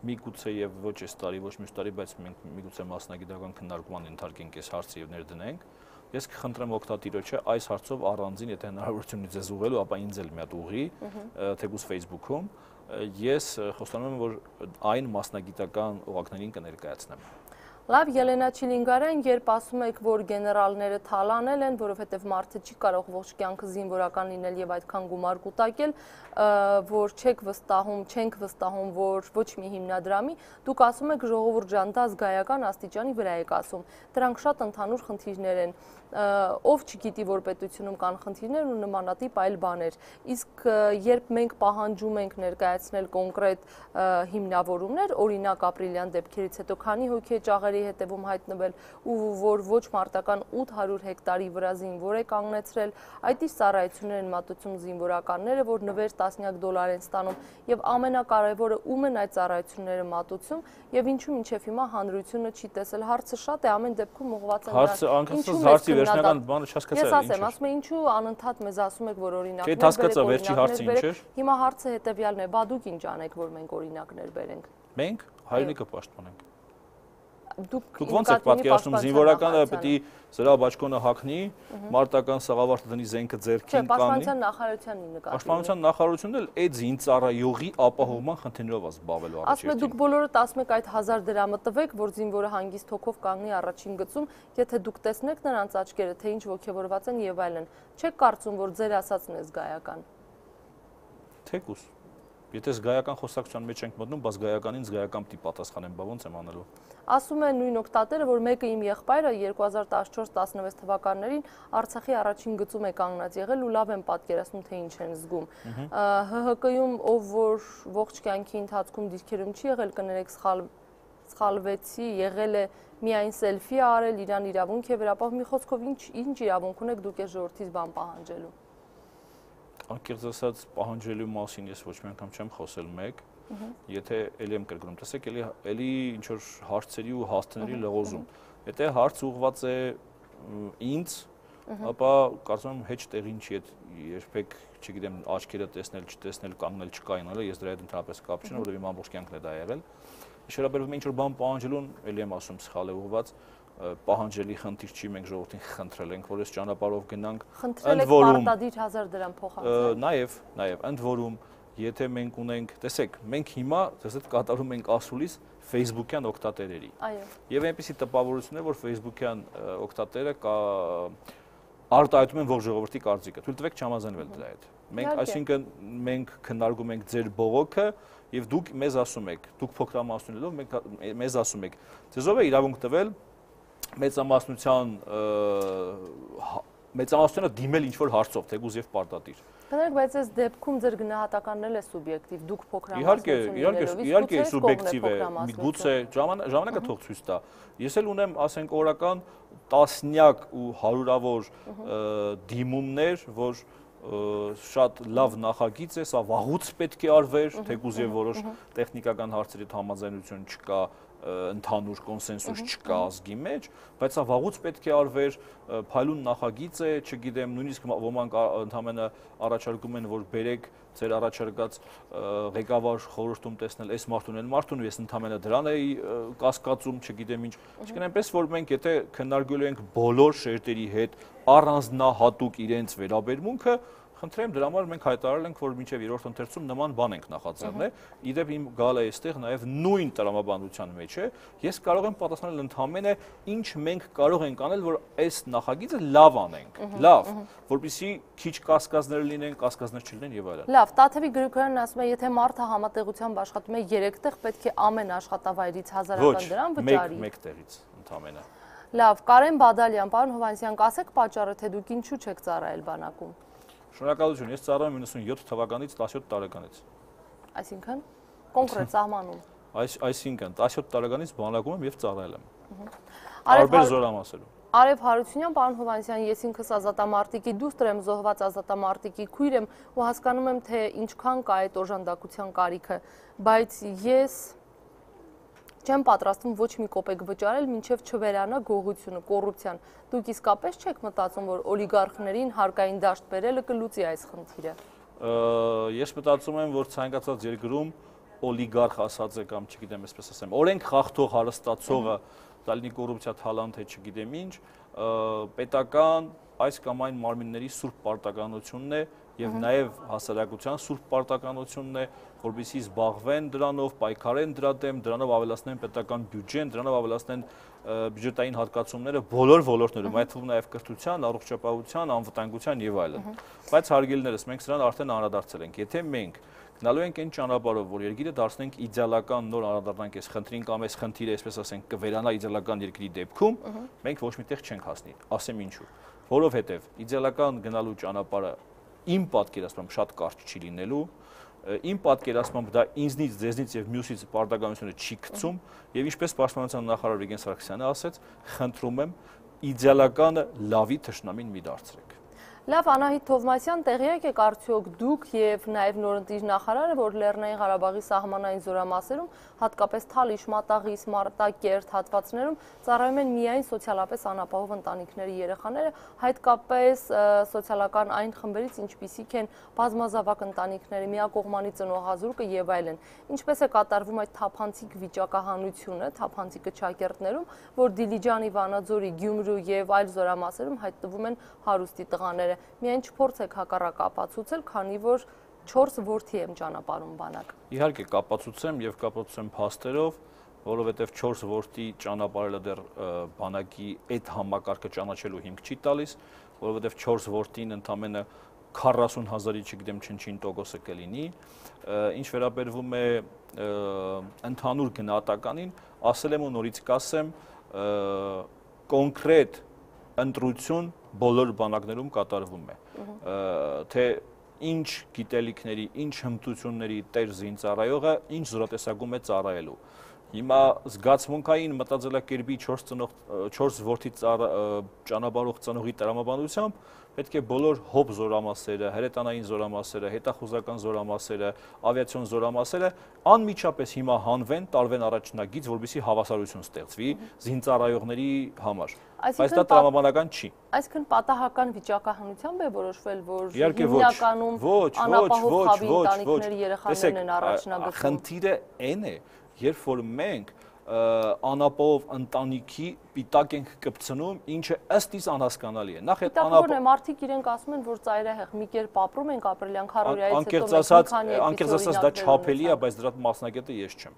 Միգուցե եւ ոչ այս տարի, ոչ մյուս տարի, բայց մենք միգուցե մասնագիտական քննարկման ենթարկենք այս հարցը եւ ներդնենք։ Ես կխնդրեմ օգտատիրոջը այս հարցով առանձին, եթե հնարավորություն ունի ձեզ ուղղելու, ապա ինձ էլ մի հատ ուղղի, թեկուզ Facebook-ում, ես խոստանում եմ, որ այն մասնագիտական օղակներին կներկայացնեմ։ Լավ, Ելենա Չիլինգարյան, երբ ասում եք, որ գեներալները թալանել են, որովհետև մարդը չի կարող ողջ կյանքը զինվորական լինել եւ այդքան գումար կուտակել, որ չեք վստահում, չենք վստահում, որ ոչ մի հիմնադրամի, դուք ասում եք ժողովուրդ ջան, դա զգայական աստիճանի վրա եք ասում։ Դրանք շատ ընդհանուր խնդիրներ են։ Ով չգիտի, որ պետությունում կան խնդիրներ ու նմանատիպ այլ բաներ։ Իսկ երբ մենք պահանջում ենք ներկայացնել կոնկրետ հիմնավորումներ, օրինակ ապրիլյան դեպքերից հետո քանի հոգի է ճաղերի հետևում հայտնվել ու որ ոչ մարտական ութ հարյուր հեկտարի վրա զինվոր է կանգնեցրել, այդ իսկ ծառայություններ են մատուցում զինվորականները, որ նվեր տասնյակ դոլար են ստանում եւ ամենակարևորը ում են այդ ծառայությունները մատուցում եւ ինչու մինչեւ հիմա հանրությունը չի տեսել։ Հարցը շատ է, ամեն դեպքում ուղղված է հարցը վերջնական բանը չհասկացա։ Ես ասեմ, ասում եմ, ինչու անընդհատ մեզ ասում եք, որ օրինակներ բերեք։ Չէ, հասկացա, վերջի հարցը ինչ էր։ Հիմա հարցը հետեւյալն է, բա դուք ինչ անեք, որ մենք օրինակներ բերենք։ Մենք հայրենիքը պաշտպանենք։ Դուք ոնց եք պատկերացնում զինվորականը պետք է զրահ բաճկոնը հագնի, մարտական սաղավարտը դնի զենքը ձեռքին կանի։ Պաշտպանության նախարարությանն նկատի։ Պաշտպանության նախարարությունն էլ այդ զինծառայողի ապահովման խնդիրներով է զբաղվելու առաջին։ Ասում եք դուք բոլորդ ասում եք այդ հազար դրամը տվեք, որ զինվորը հանգիստ հոգով կանգնի առաջին գծում, եթե դուք տեսնեք նրանց աչքերը, թե ինչ ոգևորված են եւ այլն։ Չեք կարծում, որ ձեր ասածն է զգայական։ Թեկուս։ Եթե զգայական խոսակցության մեջ ենք մտնում, բայց զգայականին զգայական պիտի պատասխանեմ, բա ոնց եմ անելու։ Ասում է նույն օգտատերը, որ մեկը իմ եղբայրը երկու հազար տասնչորս տասնվեց թվականներին Արցախի առաջին գծում է կանգնած եղել ու լավ եմ պատկերացնում, թե ինչ են զգում։ Հ Հ Կ-ում ով որ ողջ կյանքի ընթացքում դիրքերում չի եղել, կներեք սխալվեցի, եղել է միայն սելֆի արել, իրան իրավունք է վերապահում։ Մի խոսքով ինչ ինչ իրավունք ունեք դուք այս ժողովրդից բան պահանջելու։ Անկեղծ ասած պահանջելու մասին ես ոչ մի անգամ չեմ խոսել մեկ, եթե էլի եմ կրկնում, տեսեք էլի էլի ինչ որ հարցերի ու հաստների լղոզում։ Եթե հարց ուղղված է ինձ, ապա կարծում եմ հեչ տեղին չի այդ երբեք, չգիտեմ, աչքերը տեսնել, չտեսնել, կանգնել, չկայանալը, ես դրա հետ ընդհանրապես կապ չունեմ, որովհետև իմ ամբողջ կյանքն է դա եղել։ Շարաբերվում ինչ որ բան պահանջելուն, էլի եմ ասում, սխալ է ուղղված, պահանջելի խնդիր չի, մենք ժողովրդին խնդրել ենք, որ այս ճանապարհով գնանք, ընդ որում պարտադիր հազար դրամ փոխանցել։ Նաև, նաև, ընդ որում, եթե մենք ունենք, տեսեք, մենք հիմա դες այդ կատարում ենք ասուլիս Facebook-յան օգտատերերի։ Այո։ Եվ այնպեսի տպավորություն է, որ Facebook-յան օգտատերը կա արտահայտում են ողջ ժողովրդի կարծիքը։ Թույլ տվեք չհամաձայնվել դրա հետ։ Մենք, այսինքն, մենք քննարկում ենք ձեր բողոքը եւ դուք մեզ ասում եք, դուք փոքրամասնություններով մենք մեզ ասում եք, ձեզ ով է իրավունք տվել մեծամասնության մեծամասնությունը դիմել ինչ-որ հարցով, թեկուզ եւ պարտադիր։ Կներեք, բայց այս դեպքում ձեր գնահատականն էլ է սուբյեկտիվ, դուք Իհարկե, փոքրամասնություն իհարկե, իհարկե սուբյեկտիվ է, միգուցե ժամանակը թող ցույց տա։ Ես էլ ունեմ, ասենք, օրական տասնյակ ու հարյուրավոր դիմումներ, որ շատ լավ նախագիծ է, սա վաղուց պետք է արվեր, թեկուզ եւ որոշ տեխնիկական հարցերի համաձայնություն չկա, ընդհանուր կոնսենսուս չկա ազգի մեջ, բայց սա վաղուց պետք է արվեր, փայլուն նախագիծ է, չգիտեմ, նույնիսկ ոմանք ընդհանրապես առաջարկում են, որ բերեք ձեր առաջարկած ղեկավար խորհրդում տեսնել այս մարդուն, այն մարդուն, ես ընդհանրապես դրան էի կասկածում, չգիտեմ ինչ, այսինքն այնպես որ մենք եթե քննարկելու ենք բոլոր շերտերի հետ առանձնահատուկ իրենց վերաբերմունքը, Խնդրեմ, դրա համար մենք հայտարարել ենք, որ մինչև երրորդ ընթերցում նման բան ենք նախաձեռնել։ Իդեպ իմ գալը այստեղ նաև նույն տրամաբանության մեջ է։ Ես կարող եմ պատասխանել ընդհանրապես ինչ մենք կարող ենք անել, որ այս նախագիծը լավ անենք։ Լավ, որպեսզի քիչ կասկածներ լինեն, կասկածներ չլինեն եւ այլն։ Լավ, Տաթևի Գրիգորյանն ասում է, եթե մարդը համատեղությամբ աշխատում է երեք տեղ, պետք է ամեն աշխատավայրից հազարական դրամ վճարի։ Մեկ տեղից ընդհանրապես։ Լավ, Կարեն Բադալյան, պարոն Հովհաննիսյան, կասեք պատճառը, թե դուք ինչու չեք ծառայել բանակում։ Շնորհակալություն, ես ծառայում եմ իննսունյոթ թվականից տասնյոթ տարեկանից։ Այսինքն կոնկրետ սահմանում։ Այս այսինքն տասնյոթ տարեկանից բանակում եմ եւ ծառայել եմ։ Տարբեր զորամասերում։ Արև Հարությունյան, պարոն Հովհաննիսյան, ես ինքս ազատամարտիկի դուստր եմ, զոհված ազատամարտիկի քույր եմ ու հասկանում եմ, թե ինչքան կա այդ օժանդակության կարիքը, բայց ես չեմ պատրաստվում ոչ մի կոպեկ վճարել, մինչև չվերանա գողությունը, կոռուպցիան։ Դուք իսկապես չեք մտածում, որ օլիգարխներին հարկային դաշտ բերելը կլուծի այս խնդիրը։ Ես մտածում եմ, որ ցանկացած երկրում օլիգարխ ասած է կամ չգիտեմ, այսպես ասեմ, օրենք խախտող հարստացողը դա լինի կոռուպցիա թալանտ է, չգիտեմ ինչ, պետական այս կամ այն մարմինների սուրբ պարտականությունն է եւ նաեւ հասարակության սուրբ պարտականությունն է, որպեսզի զբաղվեն դրանով, պայքարեն դրա դեմ, դրանով ավելացնեն պետական բյուջեն, դրանով ավելացնեն բյուջետային հատկացումները բոլոր ոլորտներում, այդ թվում նաեւ կրթության, առողջապահության, անվտանգության եւ այլն։ Բայց հարգելիներս, մենք սրան արդեն անդրադարձել ենք, եթե մենք գնալու ենք այն ճանապարհով, որ երկիրը դարձնենք իդեալական նոր անդրադառնանք այս խնդրին կամ այս խնդիրը, այսպես ասենք, կվերանա իդեալական երկրի դեպքում, մենք ոչ միտեղ չենք հասնի։ Ասեմ ինչու։ Որովհետև իդեալական գնալու ճանապարհը իմ պատկերացմամբ շատ կարճ չի լինելու, իմ պատկերացմամբ դա ինձնից, ձեզնից եւ մյուսից պարտականությունը չի գցում, եւ ինչպես պաշտպանության նախարար Վիգեն Սարգսյանը ասաց, խնդրում եմ իդեալականը լավի թշնամին մի դարձրեք։ Լավ, Անահիտ Թովմասյան, տեղյակ եք արդյոք դուք եւ նաեւ նորընտիր նախարարը, որ Լեռնային Ղարաբաղի սահմանային զորամասերում, հատկապես Թալիշ, Մատաղի, Մարտակերտ հատվածներում ծառայում են միայն սոցիալապես անապահով ընտանիքների երեխաները, հատկապես սոցիալական այն խմբերից, ինչպիսիք են բազմազավակ ընտանիքների, միակողմանի ծնողազուրկը եւ այլն։ Ինչպես է կատարվում այդ թափանցիկ վիճակահանությունը, թափանցիկը Չակերտներում, որ Դիլիջանի, Վանաձորի, Գյումրու եւ այլ զորամասերում հայտնվում են հարուստի տղաները։ Միայն չփորձեք հակառակ ապացուցել, քանի որ չորս որդի եմ ճանապարհում բանակ։ Իհարկե կապացուցեմ եւ կապացուցեմ փաստերով, որովհետեւ չորս որդի ճանապարհը դեռ բանակի այդ համակարգը ճանաչելու հիմք չի տալիս, որովհետեւ չորս որդին ընդամենը քառասուն հազարի, չգիտեմ, չնչին տոկոսը կլինի։ Ինչ վերաբերվում է ընդհանուր գնահատականին, ասել եմ ու նորից կասեմ, կոնկրետ ընտրություն բոլոր բանակներում կատարվում է, թե ինչ գիտելիքների, ինչ հմտությունների տեր զինծառայողը ինչ զորատեսակում է ծառայելու։ Հիմա զգացմունքային մտածելակերպի չորս որդի ճանապարհող ծնողի տրամաբանությամբ պետք է բոլոր հոբ զորամասերը, հրետանային զորամասերը, հետախուզական զորամասերը, ավիացիոն զորամասերը անմիջապես հիմա հանվեն, տարվեն առաջնագիծ, որպեսզի հավասարություն ստեղծվի զինծառայողների համար։ Բայց դա տրամաբանական չի։ Այսինքն պատահական վիճակահանությամբ է որոշվել, որ հիմնականում անապահով խավի ընտանիքների երեխաներն են առաջնագծում։ Խնդիրը այն է, երբ որ մենք անապահով ընտանիքի պիտակ ենք կպցնում, ինչը ըստ իս անհասկանալի է։ Նախ այդ անապահով մարդիկ իրենք ասում են, որ ծայրահեղ մի կերպ ապրում ենք ապրիլյան քառորյայից հետո անկեղծ ասած դա չափելի է, բայց դրա մասնակետը ես չեմ։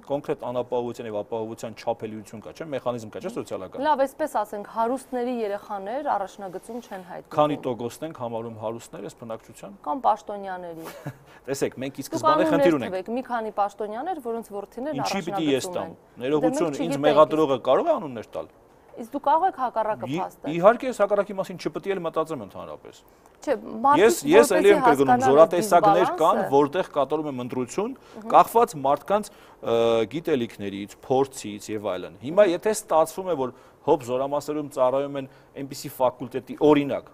Կոնկրետ անապահովության եւ ապահովության չափելիություն կա, չէ՞, մեխանիզմ կա, չէ՞, սոցիալական։ Լավ, այսպես ասենք, հարուստների երեխաներ առաջնագծում չեն հայտնվում։ Քանի տոկոսն ենք համարում հարուստներ այս բնակչության։ Կամ պաշտոնյաների։ Տեսեք, մենք ի սկզբանե խնդիր ունենք։ Մի քանի պաշտոնյաներ, որոնց որդիներն առաջնագծում են։ Ինչի պիտի ես տամ։ Ներողություն, ինձ մեղադրողը կարող է անուններ տալ։ Իսկ դու կարող եք հակառակը փաստել։ Իհարկե, ես հակառակի մասին չպետք է մտածեմ ընդհանրապես։ Չէ, Ես ես ելի եմ կրկնում, զորատեսակներ կան, որտեղ կատարում եմ ընտրություն, կախված մարդկանց գիտելիքներից, փորձից եւ այլն։ Հիմա եթե ստացվում է, որ հոբ զորամասերում ծառայում են այնպիսի ֆակուլտետի օրինակ,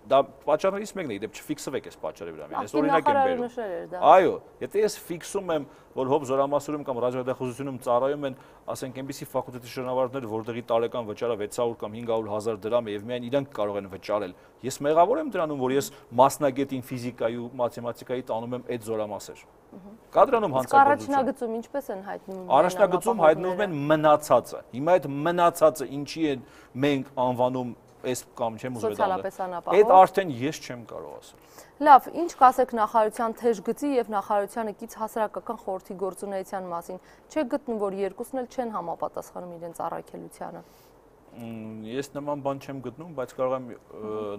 դա պատճառներից մեկն է, դեպ չֆիքսվեք այս պատճառի վրա, ես օրինակ եմ բերում։ Այո, եթե ես ֆիքսում եմ, որ հոբ զորամասերում կամ ռադիոդախուզությունում ծառայում են, ասենք այնպիսի ֆակուլտետի շրջանավարտներ, որտեղի տարեկան վճարը վեց հարյուր կամ հինգ հարյուր հազար դրամ է եւ միայն իրանք կարող են վճարել, ես մեղավոր եմ դրանում, որ ես մասնագետին ֆիզիկայի ու մաթեմատիկայի տանում եմ այդ զորամասեր։ Կա դրանում հանցագործություն։ Առաջնագծում ինչպես են հայտնվում։ Առաջնագծում հայտնվում են մնացածը։ Հիմա այդ մնացածը ինչի են մենք անվանում այս կամ չեմ ուզում Սոցիալապես անապահով։ Այդ արդեն ես չեմ կարող ասել։ Լավ, ինչ կասեք նախարարության թեժ գծի եւ նախարարությանը կից հասարակական խորհրդի գործունեության մասին։ Չեք գտնում, որ երկուսն էլ չեն համապատասխանում իրենց առաքելությանը։ Ես նման բան չեմ գտնում, բայց կարող եմ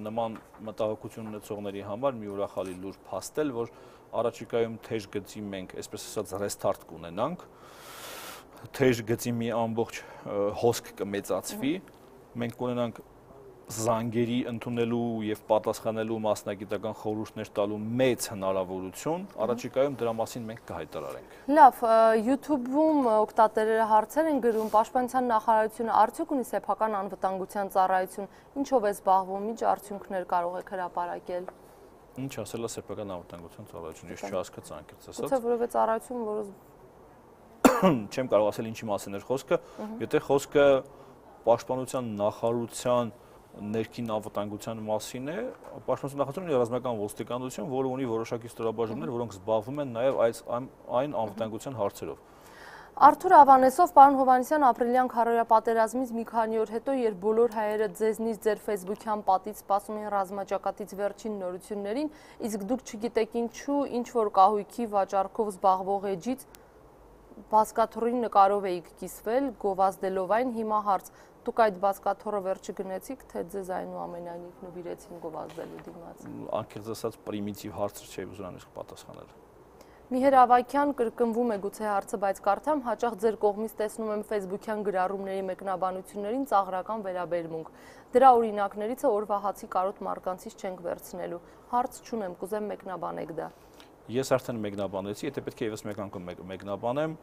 նման մտահոգություն ունեցողների համար մի ուրախալի լուր փաստել, որ առաջիկայում թեժ գծի մենք, այսպես ասած, ռեստարտ կունենանք, թեժ գծի մի ամբողջ հոսք կմեծացվի, մենք կունենանք զանգերի ընդունելու եւ պատասխանելու մասնագիտական խորհուրդներ տալու մեծ հնարավորություն, առաջիկայում դրա մասին մենք կհայտարարենք։ Լավ, YouTube-ում օգտատերերը հարցեր են գրում, Պաշտպանության նախարարությունը արդյոք ունի սեփական անվտանգության ծառայություն, ինչով է զբաղվում, ինչ արդյունքներ կարող եք հրապարակել։ Ինչ ասել է սեփական անվտանգության ծառայությունը, ես չհասկացա անկեղծ ասած։ Ո՞թե որևէ ծառայություն, որը չեմ կարող ասել ինչի մասին էր խոսքը, եթե խոսքը Պաշտպանության նախարարության ներքին անվտանգության մասին է, Պաշտպանության նախարարությունը ունի ռազմական ոստիկանություն, որը ունի որոշակի ստորաբաժանումներ, որոնք զբաղվում են նաև այս այն անվտանգության հարցերով։ Արթուր Ավանեսով, պարոն Հովհաննիսյան, ապրիլյան քարոզիա պատերազմից մի քանի օր հետո, երբ բոլոր հայերը ձեզնից ձեր Facebook-յան պատից սպասում են ռազմաճակատից վերջին նորություններին, իսկ դուք չգիտեք ինչու, ինչ որ կահույքի վաճառքով զբաղվող էջից բազկաթոռի նկարով էիք կիսվել, գովազդելով այն, հիմա հարց, դուք այդ բազկաթոռը վերջը գնեցիք, թե ձեզ այնուամենայնիվ նվիրեցին գովազդելու դիմաց։ Անկեղծ ասած պրիմիտիվ հարցը չէի ուզում իսկ պատասխանել։ Միհեր Ավագյան կրկնվում է գուցե հարցը, բայց կարդամ, հաճախ ձեր կողմից տեսնում եմ Facebook-յան գրառումների մեկնաբանություններին ծաղրական վերաբերմունք։ Դրա օրինակներից է օրվա հացի կարոտ մարկանցից չենք վերցնելու։ Հարց չունեմ, կուզեմ մեկնաբանեք դա։ Ես արդեն մեկնաբանեցի, եթե պետք է եւս մեկ անգամ մեկնաբանեմ,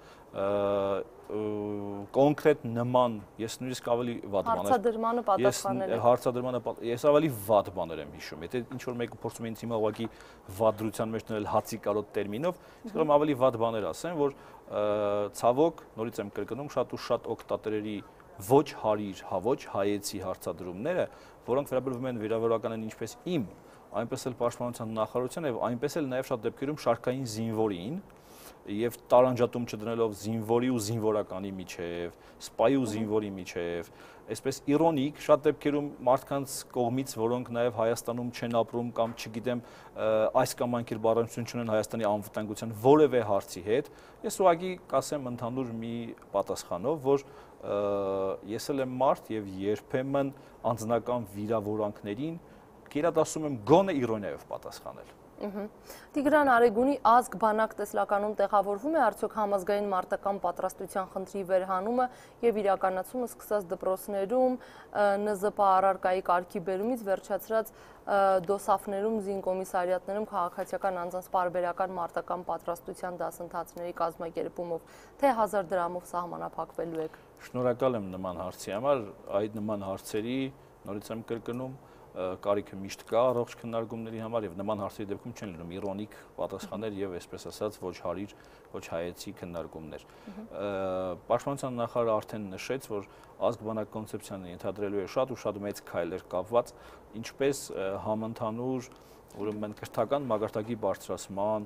կոնկրետ նման, ես նույնիսկ ավելի վատ բաներ։ Հարցադրմանը պատասխանել եք։ Հարցադրմանը ես ավելի վատ բաներ եմ հիշում։ Եթե ինչ որ մեկը փորձում է ինձ հիմա ուղղակի վատ դրության մեջ դնել հացի կարոտ տերմինով, ես կարող եմ ավելի վատ բաներ ասեմ, որ ցավոք, նորից եմ կրկնում, շատ ու շատ օգտատերերի ոչ հարիր, հա ոչ հայեցի հարցադրումները, որոնք վերաբերվում են վիրավորականին ինչպես իմ, այնպես էլ Պաշտպանության նախարարության եւ այնպես էլ նաեւ շատ դեպքերում շարքային զինվորին եւ տարանջատում չդնելով զինվորի ու զինվորականի միջև, սպայի ու զինվորի միջև, այսպես իրոնիկ շատ դեպքերում մարդկանց կողմից, որոնք նաեւ Հայաստանում չեն ապրում կամ չգիտեմ այս կամ այն կերպ առնչություն չունեն Հայաստանի անվտանգության որևէ հարցի հետ, ես ուղղակի կասեմ ընդհանուր մի պատասխանով, որ ես էլ եմ մարդ եւ երբեմն անձնական վիրավորանքներին կերադասում եմ գոնե իրոնիայով պատասխանել։ Տիգրան Արեգունի ազգ բանակ տեսլականում տեղավորվում է արդյոք համազգային մարտական պատրաստության խնդրի վերհանումը եւ իրականացումը սկսած դպրոցներում Ն Զ Պ առարկայի կարգի բերումից վերջացրած դոսաֆներում, զինկոմիսարիատներում քաղաքացիական անձանց պարբերական մարտական պատրաստության դասընթացների կազմակերպումով, թե հազար դրամով սահմանափակվելու եք։ Շնորհակալ եմ նման հարցի համար, այդ նման հարցերի նորից եմ կրկնում կարիքը միշտ կա առողջ քննարկումների համար եւ նման հարցերի դեպքում չեն լինում իրոնիկ պատասխաններ եւ այսպես ասած ոչ հարիր, ոչ հայեցի քննարկումներ։ Պաշտպանության նախարարը արդեն նշեց, որ ազգ-բանակ կոնցեպցիան ենթադրելու է շատ ու շատ մեծ քայլեր կապված, ինչպես համընդհանուր ուրեմն կրթական մագարտակի բարձրացման,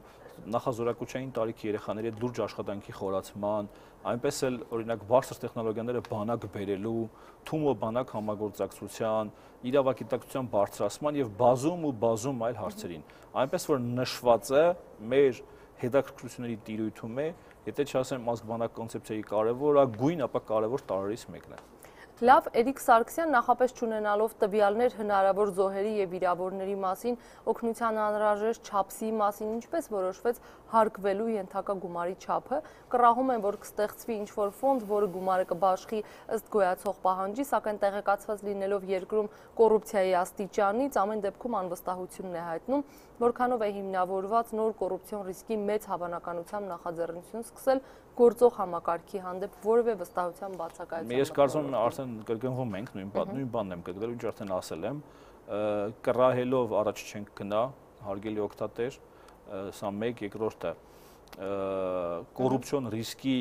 նախազորակության տարիքի երեխաների հետ լուրջ աշխատանքի խորացման, այնպես էլ օրինակ բարձր տեխնոլոգիաները բանակ բերելու, թումո բանակ համագործակցության, իրավագիտակցության բարձրացման եւ բազում ու բազում այլ հարցերին։ Այնպես որ նշված է մեր հետաքրքրությունների տիրույթում է, եթե չասեմ ազգ-բանակ կոնցեպցիայի կարևորագույն, ապա կարևոր տարրերից մեկն է։ Լավ, Էրիկ Սարգսյան նախապես չունենալով տվյալներ հնարավոր զոհերի եւ վիրավորների մասին, օգնության անհրաժեշտ չափսի մասին, ինչպես որոշվեց հարկվելու ենթակա գումարի չափը, կռահում են, որ կստեղծվի ինչ-որ ֆոնդ, որը գումարը կբաշխի ըստ գոյացող պահանջի, սակայն տեղեկացված լինելով երկրում կոռուպցիայի աստիճանից, ամեն դեպքում անվստահությունն է հայտնում, որքանով է հիմնավորված նոր կոռուպցիոն ռիսկի մեծ հավանականությամբ նախաձեռնություն սկսել գործող համակարգի հանդեպ որևէ վստահության բացակայության։ Ես կարծում եմ արդեն կրկնվում ենք, նույն նույն բանն եմ կրկնել, ինչ արդեն ասել եմ, կռահելով առաջ չենք գնա, հարգելի օգտատեր, սա մեկ, երկրորդը կոռուպցիոն ռիսկի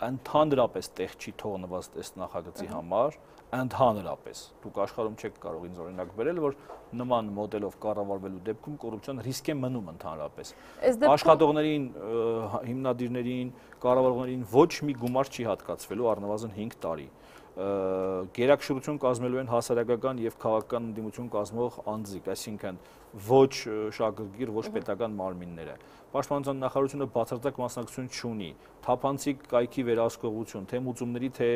ընդհանրապես տեղ չի թողնված այս նախագծի համար, ընդհանրապես դուք աշխարհում չեք կարող ինձ օրինակ բերել, որ նման մոդելով կառավարվելու դեպքում կոռուպցիոն ռիսկ է մնում ընդհանրապես։ Աշխատողներին, հիմնադիրներին, կառավարողներին ոչ մի գումար չի հատկացվելու առնվազն հինգ տարի։ գերակշռություն կազմելու են հասարակական եւ քաղաքական ընդդիմություն կազմող անձիկ, այսինքն ոչ շահագրգիռ, ոչ պետական մարմինները։ Պաշտպանության նախարարությունը բացարձակ մասնակցություն չունի, թափանցիկ կայքի վերահսկողություն, թե մուծումների, թե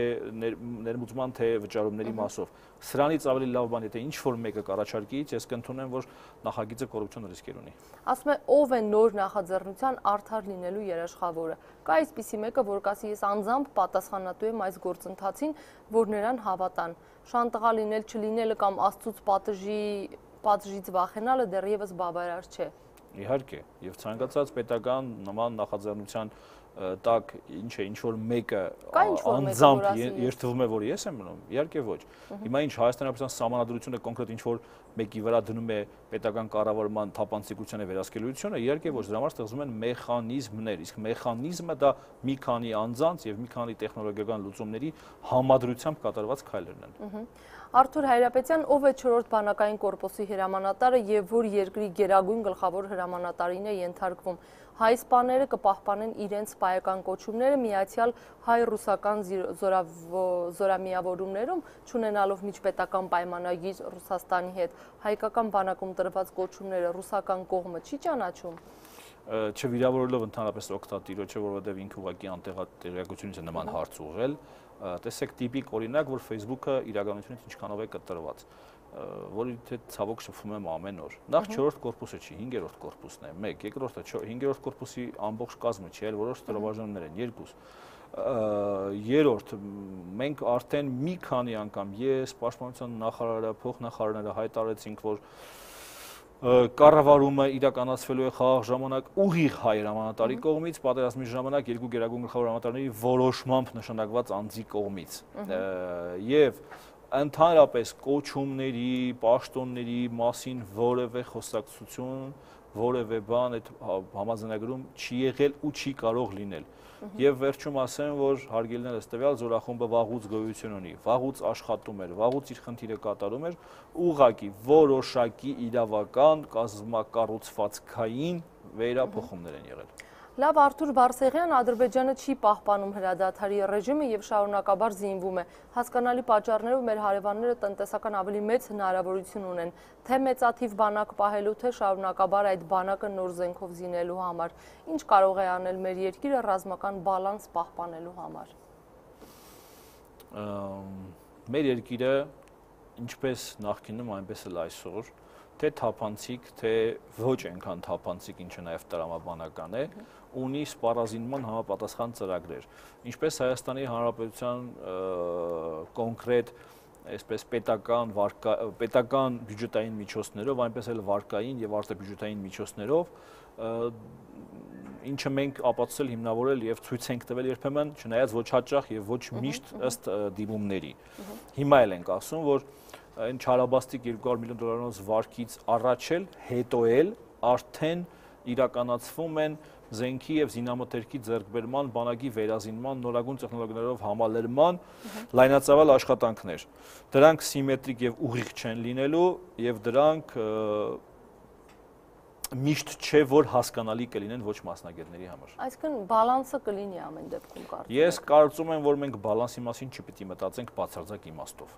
ներմուծման, թե վճարումների մասով։ Սրանից ավելի լավ բան, եթե ինչ-որ մեկը կառաջարկի, ես կընդունեմ, որ նախագիծը կոռուպցիոն ռիսկեր ունի։ Ասում է, ով է նոր նախաձեռնության արդար լինելու երաշխավորը։ Կա այսպիսի մեկը, որ կասի, ես անձամբ պատասխանատու եմ այս գործընթացին, որ նրան հավատան։ Շանտղա լինել, չլինելը կամ Աստծուց պատժի, պատժից վախենալը դեռևս բավարար չէ։ Իհարկե, եւ ցանկացած պետական նման նախաձեռնության տակ ինչ է, ինչ որ մեկը անձամբ երթվում է, որ ես եմ մնում, իհարկե ոչ։ Հիմա ինչ Հայաստանի Հանրապետության սահմանադրությունը կոնկրետ ինչ որ մեկի վրա դնում է պետական կառավարման թափանցիկությանը վերահսկելիությունը, իհարկե ոչ, դրա համար ստեղծվում են մեխանիզմներ, իսկ մեխանիզմը դա մի քանի անձանց եւ մի քանի տեխնոլոգիական լուծումների համադրությամբ կատարված քայլերն են։ Արթուր Հայրապետյան, ով է չորրորդ բանակային կորպուսի հրամանատարը եւ որ երկրի գերագույն գլխավոր հրամանատարին է ենթարկվում։ Հայ սպաները կպահպանեն իրենց սպայական կոչումները միացյալ հայ-ռուսական զորամիավորումներում, չունենալով միջպետական պայմանագիր Ռուսաստանի հետ, հայկական բանակում տրված կոչումները ռուսական կողմը չի ճանաչում։ Չվիրավորելով ընդհանրապես օգտատիրոջը, որովհետև ինքը ուղղակի անտեղեկությունից է նման հարց ուղղել, տեսեք տիպիկ օրինակ, որ Facebook-ը իրականությունից ինչքանով է կտրված, որի հետ ցավոք շփվում եմ ամեն օր։ Նախ չորրորդ կորպուսը չի, հինգերորդ կորպուսն է, մեկ, երկրորդը հինգերորդ կորպուսի ամբողջ կազմը չի, այլ որոշ ստորաբաժանումներ են, երկուս։ Երրորդ, մենք արդեն մի քանի անգամ ես, Պաշտպանության նախարարը, փոխնախարարները հայտարարեցինք, որ կառավարումը իրականացվելու է խաղաղ ժամանակ ուղիղ հայ հրամանատարի կողմից, պատերազմի ժամանակ երկու գերագույն գլխավոր հրամանատարների որոշմամբ նշանակված անձի կողմից։ Եվ ընդհանրապես կոչումների, պաշտոնների մասին որևէ խոսակցություն, որևէ բան այդ համաձայնագրում չի եղել ու չի կարող լինել։ Եվ վերջում ասեմ, որ հարգելիներս տվյալ զորախումբը վաղուց գոյություն ունի, վաղուց աշխատում էր, վաղուց իր խնդիրը կատարում էր, ուղղակի որոշակի իրավական կազմակառուցվածքային վերափոխումներ են եղել։ Լավ, Արթուր Բարսեղյան, Ադրբեջանը չի պահպանում հրադադարի ռեժիմը եւ շարունակաբար զինվում է։ Հասկանալի պատճառներով մեր հարևանները տնտեսական ավելի մեծ հնարավորություն ունեն, թե մեծաթիվ բանակ պահելու, թե շարունակաբար այդ բանակը նոր զենքով զինելու համար։ Ինչ կարող է անել մեր երկիրը ռազմական բալանս պահպանելու համար։ Մեր երկիրը ինչպես նախկինում, այնպես էլ այսօր, թե թափանցիկ, թե ոչ այնքան թափանցիկ, ինչը նաև տրամաբանական է, ունի սպառազինման համապատասխան ծրագրեր։ Ինչպես Հայաստանի Հանրապետության կոնկրետ այսպես պետական պետական բյուջետային միջոցներով, այնպես էլ վարկային եւ արտաբյուջետային միջոցներով, ինչը մենք ապացուցել, հիմնավորել եւ ցույց ենք տվել երբեմն, չնայած ոչ հաճախ եւ ոչ միշտ ըստ դիմումների։ Հիմա էլ ենք ասում, որ այն չարաբաստիկ երկու հարյուր միլիոն դոլարանոց վարկից առաջ էլ, հետո էլ արդեն իրականացվում են զենքի եւ զինամթերքի ձեռքբերման, բանակի վերազինման, նորագույն տեխնոլոգիաներով համալրման լայնածավալ աշխատանքներ։ Դրանք սիմետրիկ եւ ուղիղ չեն լինելու եւ դրանք միշտ չէ, որ հասկանալի կլինեն ոչ մասնագետների համար։ Այսինքն բալանսը կլինի ամեն դեպքում կարծում։ Ես կարծում եմ, որ մենք բալանսի մասին չպիտի մտածենք բացարձակ իմաստով։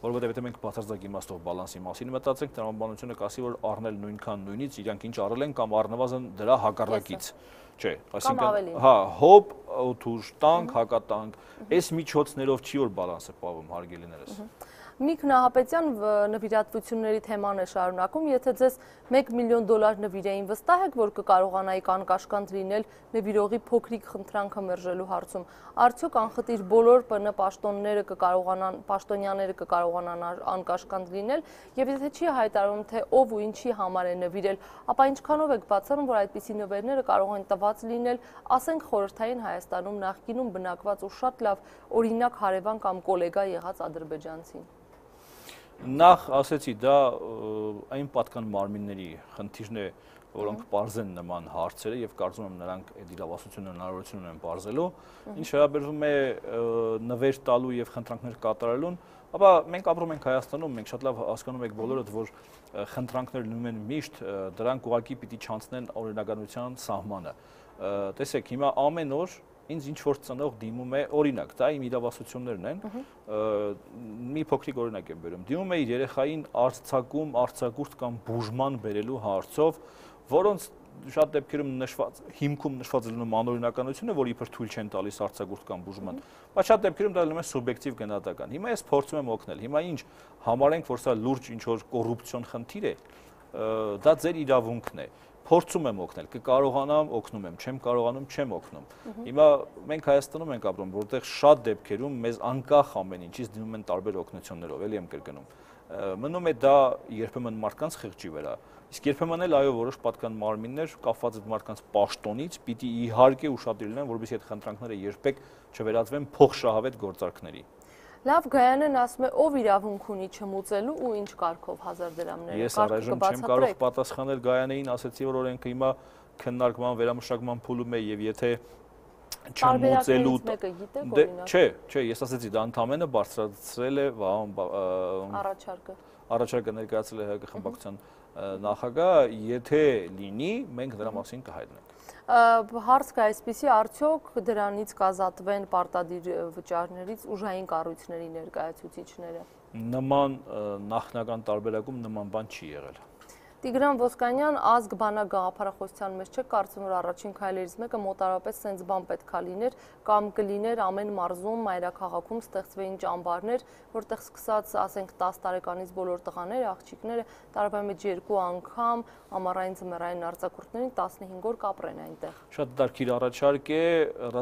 Որովհետև եթե մենք բացարձակ իմաստով բալանսի մասին մտածենք, տրամաբանությունը կասի, որ առնել նույնքան նույնից, իրանք ինչ առել են կամ առնվազն դրա հակառակից։ Չէ, այսինքն, հա, հոբ, օդուժ, տանկ, հակատանկ, այս միջոցներով չի որ բալանսը պահվում, հարգելիներս։ Միք Նահապետյան նվիրատվությունների թեման է շարունակում, եթե ձեզ մեկ միլիոն դոլար նվիրեին, վստահ եք, որ կկարողանայիք անկաշկանդ լինել նվիրողի փոքրիկ խնդրանքը մերժելու հարցում։ Արդյոք անխտիր բոլոր ՊՆ պաշտոնները կկարողանան, պաշտոնյաները կկարողանան անկաշկանդ լինել, եւ եթե չի հայտարարում, թե ով ու ինչի համար է նվիրել, ապա ինչքանով եք բացառում, որ այդպիսի նվերները կարող են տված լինել, ասենք խորհրդային Հայաստանում նախկինում բնակված ու շատ լավ օրինակ հարևան կամ գոլեգա եղած ադրբեջանցին։ Նախ ասեցի, դա այն պատկան մարմինների խնդիրն է, որոնք պարզեն նման հարցերը եւ կարծում եմ նրանք այդ իրավասությունը հնարավորություն ունեն պարզելու, ինչ վերաբերվում է նվեր տալու եւ խնդրանքներ կատարելուն, ապա մենք ապրում ենք Հայաստանում, մենք շատ լավ հասկանում ենք բոլորդ, որ խնդրանքներ լինում են միշտ, դրանք ուղղակի պիտի չանցնեն օրինականության սահմանը։ Տեսեք, հիմա ամեն օր ինձ ինչ որ ծնող դիմում է, օրինակ, դա իմ իրավասություններն են, մի փոքրիկ օրինակ եմ բերում։ Դիմում է իր երեխային արձակում, արձակուրդ կամ բուժման բերելու հարցով, որոնց շատ դեպքերում նշված հիմքում նշված լինում անօրինականությունը, որ իբր թույլ չեն տալիս արձակուրդ կամ բուժման, բայց շատ դեպքերում դա լինում է սուբյեկտիվ գնահատական։ Հիմա ես փորձում եմ օգնել։ Հիմա ինչ համարենք, որ սա լուրջ ինչ որ կոռուպցիոն խնդիր է, դա ձեր իրավունքն է։ Փորձում եմ օգնել, կկարողանամ, օգնում եմ, չեմ կարողանում, չեմ օգնում։ Հիմա մենք Հայաստանում ենք ապրում, որտեղ շատ դեպքերում մեզ անկախ ամեն ինչից դիմում են տարբեր օգնություններով, էլի եմ կրկնում։ Մնում է դա երբեմն մարդկանց խղճի վրա, իսկ երբեմն էլ այո որոշ պատկան մարմիններ կապված այդ մարդկանց պաշտոնից պիտի իհարկե ուշադիր լինեն, որովհետեւ այդ խնդրանքները երբեք չվերածվեն փոխշահավետ գործարքների։ Լավ, Գայանեն ասում է, ով իրավունք ունի չմուծելու ու ինչ կարգով հազար դրամները։ Ես առայժմ չեմ կարող պատասխանել Գայանեին, ասեցի, որ օրենքը հիմա քննարկման, վերամշակման փուլում է եւ եթե չմուծելու Չէ, չէ, ես ասեցի, դա ընդամենը բարձրացրել է առաջարկը։ Առաջարկը ներկայացրել է ՀՀԿ խմբակցության նախագահ, եթե լինի, մենք դրա մասին կհայտնենք։ Հարց կա այսպիսի, արդյոք դրանից կազատվեն պարտադիր վճարներից ուժային կառույցների ներկայացուցիչները։ Նման նախնական տարբերակում նման բան չի եղել։ Տիգրան Ոսկանյան, ազգ բանակ գաղափարախոսության մեջ չէ, կարծում որ առաջին քայլերից մեկը մոտարապես սենց բան պետքա լիներ, կամ կլիներ ամեն մարզում, մայրաքաղաքում ստեղծվեին ճամբարներ, որտեղ սկսած, ասենք, տաս տարեկանից բոլոր տղաները, աղջիկները տարվա մեջ երկու անգամ ամառային ձմեռային արձակուրդներին տասնհինգ օր կապրեն այնտեղ։ Շատ դարքիր առաջարկ է,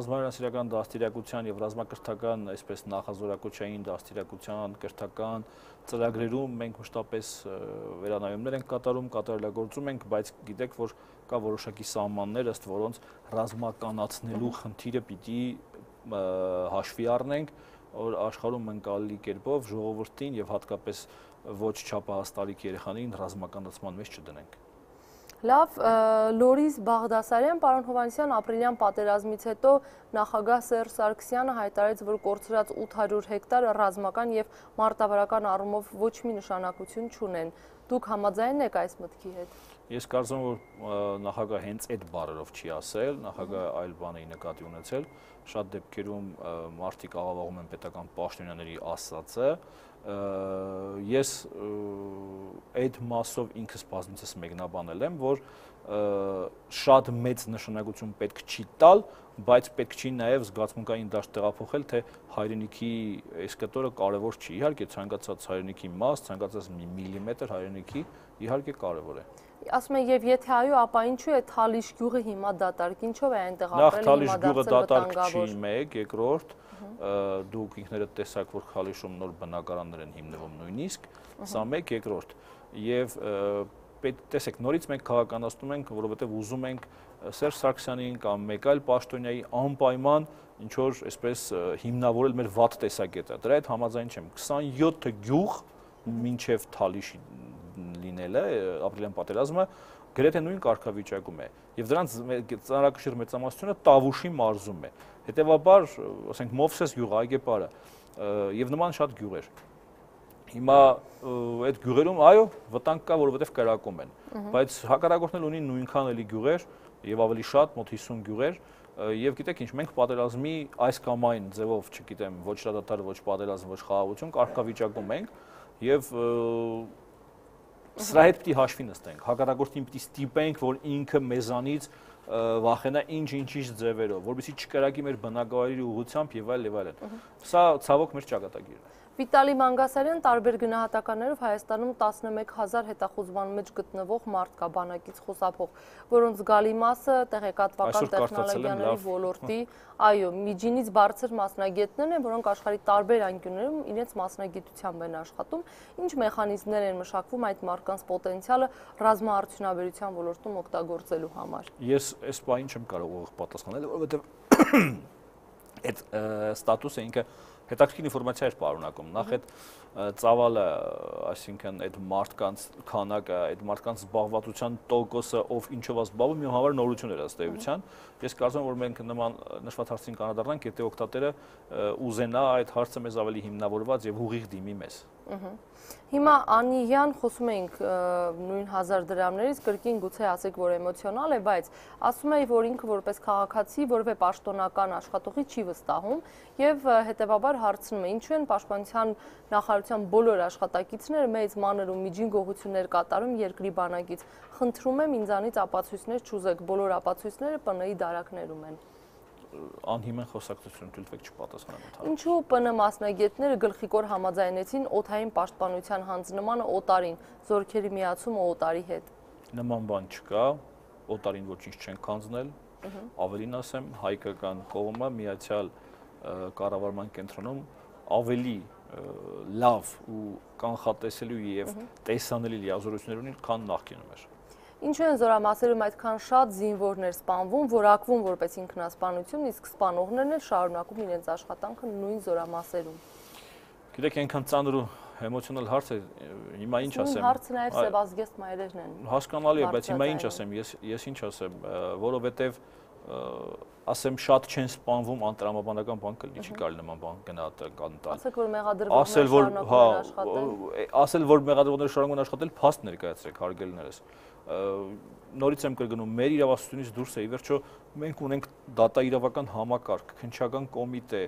ռազմահրացիական դաստիարակության եւ ռազմակրթական, այսպես նախազորակոչային դաստիարակության, կրթական ծրագրերում մենք մշտապես վերանայումներ ենք կատարում, կատարելագործում ենք, բայց գիտեք, որ կա որոշակի սահմաններ, ըստ որոնց ռազմականացնելու խնդիրը պիտի հաշվի առնենք, որ աշխարհում ընկալելի կերպով ժողովրդին եւ հատկապես ոչ չափահաս տարիք երեխաներին ռազմականացման մեջ չդնենք։ Լավ, Լորիս Բաղդասարյան, պարոն Հովհաննիսյան, ապրիլյան պատերազմից հետո նախագահ Սերժ Սարգսյանը հայտարարեց, որ կորցրած ութ հարյուր հեկտար ռազմական եւ մարտավարական առումով ոչ մի նշանակություն չունեն։ Դուք համաձայն եք այս մտքի հետ։ Ես կարծում եմ, որ նախագահը հենց այդ բառերով չի ասել, նախագահը այլ բան է նկատի ունեցել, շատ դեպքերում մարդիկ աղավաղում են պետական պաշտոնյաների ասածը, ես այդ մասով ինքս բազմիցս մեկնաբանել եմ, որ շատ մեծ նշանակություն պետք չի տալ, բայց պետք չի նաև զգացմունքային դաշտ տեղափոխել, թե հայրենիքի այս կտորը կարևոր չի։ Իհարկե ցանկացած հայրենիքի մաս, ցանկացած մի միլիմետր հայրենիքի իհարկե կարևոր է։ Ասում եմ, եւ եթե այո, ապա ինչու է Թալիշ գյուղը հիմա դատարկ, ինչով է այնտեղ ապրել, հիմա Թալիշ գյուղը դատարկ չի, մեկ, երկրորդ, դուք ինքներդ տեսաք, որ Թալիշում նոր բնակարաններ են հիմնվում նույնիսկ, սա մեկ, երկրորդ, եւ տեսեք, նորից մենք քաղաքականացնում ենք, որովհետեւ ուզում ենք Սերժ Սարգսյանին կամ մեկ այլ պաշտոնյայի անպայման ինչ որ այսպես հիմնավորել մեր վատ տեսակետը։ Դրա հետ համաձայն չեմ։ քսանյոթ գյուղ մինչև Թալիշի լինելը, ապրիլյան պատերազմը գրեթե նույն կարգավիճակում է եւ դրանց ծանրակշիռ մեծամասնությունը Տավուշի մարզում է։ Հետևաբար, ասենք Մովսես գյուղը, Այգեպարը եւ նման շատ գյուղեր։ Հիմա այդ գյուղերում այո, վտանգ կա, որովհետեւ կրակում են, բայց հակառակորդն ունի նույնքան էլի գյուղեր եւ ավելի շատ, մոտ հիսուն գյուղեր, եւ գիտեք ինչ, մենք պատերազմի այս կամ այն ձևով, չգիտեմ, ոչ դատար, ոչ պատերազմ, ոչ խաղաղություն կարգավիճակում ենք եւ սրա հետ պիտի հաշվի նստենք, հակառակորդին պիտի ստիպենք, որ ինքը մեզանից վախենա ինչ-ինչիչ ձևերով, որովհետեւ չկրակի մեր բնակավայրի ուղղությամբ եւ այլ եւ այլն։ Սա ցավոք մեր ճակատագիրն է։ Վիտալի Մանգասարյան, տարբեր գնահատականներով Հայաստանում տասնմեկ հազար հետախուզման մեջ գտնվող մարդ կա բանակից խուսափող, որոնց զգալի մասը տեղեկատվական տեխնոլոգիաների ոլորտի, այո, միջինից բարձր մասնագետներն են, որոնք աշխարհի տարբեր անկյուններում իրենց մասնագիտությամբ են աշխատում, ինչ մեխանիզմներ են մշակվում այդ մարդկանց պոտենցիալը ռազմաարդյունաբերության ոլորտում օգտագործելու համար։ Ես այս բանին չեմ կարող ուղիղ պատասխանել, որովհետև այդ ստատուսը ինքը հետաքրքիր ինֆորմացիա էր պարունակում։ Նախ այդ ծավալը, այսինքն այդ մարդկանց քանակը, այդ մարդկանց զբաղվածության տոկոսը, ով ինչով է զբաղվում, իմ համար նորություն էր ըստ էության։ Ես կարծում եմ, որ մենք նման նշված հարցին կանադառնանք, եթե օգտատերը ուզենա այդ հարցը մեզ ավելի հիմնավորված եւ ուղիղ դիմի մեզ։ Հիմա Անիյան խոսում էինք նույն հազար դրամներից, կրկին գուցե ասեք, որ էմոցիոնալ է, բայց ասում էի, որ ինքը որպես քաղաքացի որևէ պաշտոնական աշխատողի չի վստահում եւ հետեւաբար հարցնում է, ինչու են պաշտպանության նախարարության բոլոր աշխատակիցները մեծ մանր ու միջին գողություններ կատարում երկրի բանակից։ Խնդրում եմ ինձանից ապացույցներ չուզեք, բոլոր ապացույցները Պ Ն-ի դարակներում են։ Անհիմն խոսակցություն թույլվեք չպատասխանեմ։ Ինչու Պ Ն մասնագետները գլխիկոր համաձայնեցին օդային պաշտպանության հանձնմանը օտարին, զորքերի միացումը օտարի հետ։ Նման բան չկա, օտարին ոչինչ չեն քանձնել, ավելին ասեմ, հայկական կողմը միացյալ կառավարման կենտրոնում ավելի լավ ու կանխատեսելի եւ տեսանելի լիազորություններ ունի, քան նախկինում էր։ Ինչու են զորամասերում այդքան շատ զինվորներ սպանվում, որակվում որպես ինքնասպանություն, իսկ սպանողներն էլ շարունակում իրենց աշխատանքը նույն զորամասերում։ Գիտեք, այնքան ծանր ու էմոցիոնալ հարց է, հիմա ինչ ասեմ։ Հարցը նաև սևազգեստ մայրերն են։ Հասկանալի է, բայց հիմա ինչ ասեմ, ես ես ինչ ասեմ, որովհետև ասեմ շատ չեն սպանվում անտրամաբանական բան կլինի, չի կարելի նման բան գնահատական տալ։ Ասեք, որ մեղադրվողները շարունակում են աշխատել։ Ասել, որ մեղադրվողները շարունակում են աշխատել, փաստ ներկայացրեք, հարգելիներս։ Նորից եմ կրկնում, մեր իրավասությունից դուրս է, ի վերջո մենք ունենք դատա իրավական համակարգ, քննչական կոմիտե,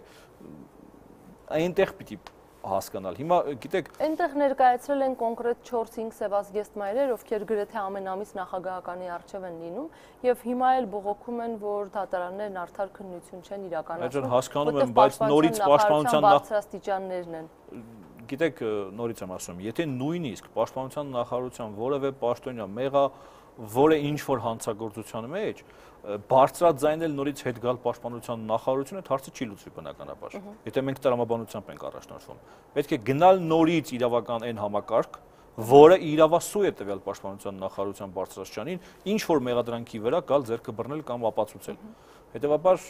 այնտեղ պիտի հասկանալ։ Հիմա գիտեք, այնտեղ ներկայացրել են կոնկրետ չորս-հինգ սևազգեստ մայրեր, ովքեր գրեթե ամեն ամիս նախագահականի առջև են լինում, եւ հիմա էլ բողոքում են, որ դատարաններն արդար քննություն չեն իրականացնում։ Այո, հասկանում եմ, բայց նորից պաշտպանության բարձրաստիճաններն են։ Գիտեք, նորից եմ ասում, եթե նույնիսկ պաշտպանության նախարարության որևէ պաշտոնյա մեղա որը ինչ որ հանցագործության մեջ բարձրաձայնել նորից հետ գալ պաշտպանության նախարարությունը, հարցը չի լուծվի բնականաբար։ Եթե մենք տրամաբանությամբ ենք առաջնորդվում, պետք է գնալ նորից իրավական այն համակարգ, որը իրավասու է տվյալ պաշտպանության նախարարության բարձրաստիճանին, ինչ որ մեղադրանքի վրա գալ ձեռքը բռնել կամ ապացուցել։ Հետևաբար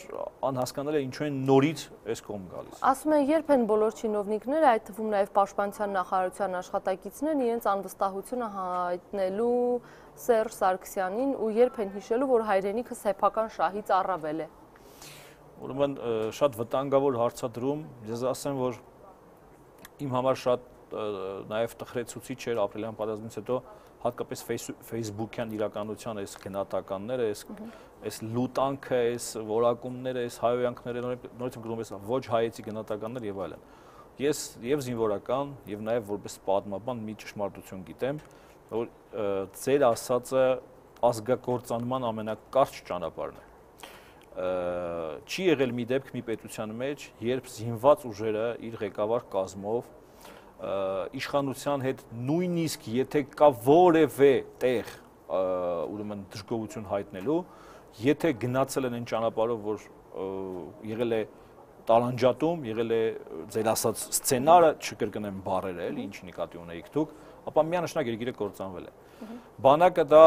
անհասկանալի է ինչու են նորից այս կողմ գալիս։ Ասում են, երբ են բոլոր չինովնիկները, այդ թվում նաև պաշտպանության նախարարության աշխատակիցներն իրենց անվստահությունը հայտնելու Սերժ Սարգսյանին ու երբ են հիշելու, որ հայրենիքը սեփական շահից առավել է։ Ուրեմն շատ վտանգավոր հարցադրում, ես ասեմ, որ իմ համար շատ նաև տխրեցուցիչ էր ապրիլյան պատերազմից հետո հատկապես Facebook-յան իրականության այս գնահատականները, այս այս լուտանքը, այս որակումները, այս հայոյանքները, նորից եմ գրում, այս ոչ հայեցի գնահատականներ եւ այլն։ Ես եւ զինվորական եւ նաև որպես պատմաբան մի ճշմարտություն գիտեմ, որ ձեր ասածը ազգակործանման ամենակարճ ճանապարհն է։ Չի եղել մի դեպք մի պետության մեջ, երբ զինված ուժերը իր ղեկավար կազմով իշխանության հետ նույնիսկ եթե կա որևէ տեղ ուրեմն դժգոհություն հայտնելու, եթե գնացել են այն ճանապարհով, որ եղել է տալանջատում, եղել է ձեր ասած սցենարը, չկրկնեմ բառերը, էլի ինչ նկատի ունեիք դուք, ապա միանշանակ երկիրը կործանվել է։ Բանակը դա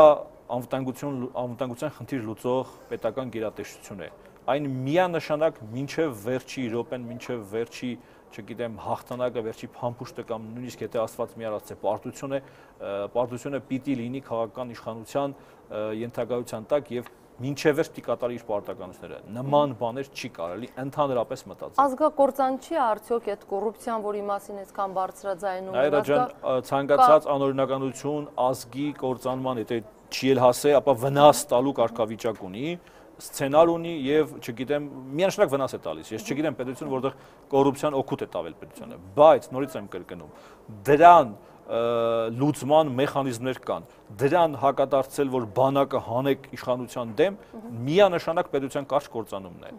անվտանգություն անվտանգության խնդիր լուծող պետական գերատեսչություն է։ Այն միանշանակ մինչև վերջի րոպեն, մինչև վերջի չգիտեմ, հաղթանակը, վերջի փամփուշտը կամ նույնիսկ եթե Աստված մի արած է պարտությունը, պարտությունը պիտի լինի քաղաքական իշխանության ենթակայության տակ եւ մինչև վերջ պիտի կատարի իր պարտականությունները։ Նման բաներ չի կարելի ընդհանրապես մտածել։ Ազգակործան չի արդյոք այդ կոռուպցիան, որի մասին այսքան բարձրաձայնում են։ Այո, ջան, ցանկացած անօրինականություն ազգի կործանման, եթե չի էլ հասե, ապա վնաս տալու կարգավիճակ ունի, սցենար ունի եւ չգիտեմ միանշանակ վնաս է տալիս։ Ես չգիտեմ պետություն, որտեղ կոռուպցիան օգուտ է տավել պետությանը, բայց նորից եմ կրկնում, դրան լուծման մեխանիզմներ կան, դրան հակադարձել, որ բանակը հանեք իշխանության դեմ, միանշանակ պետության կարճ կործանումն է։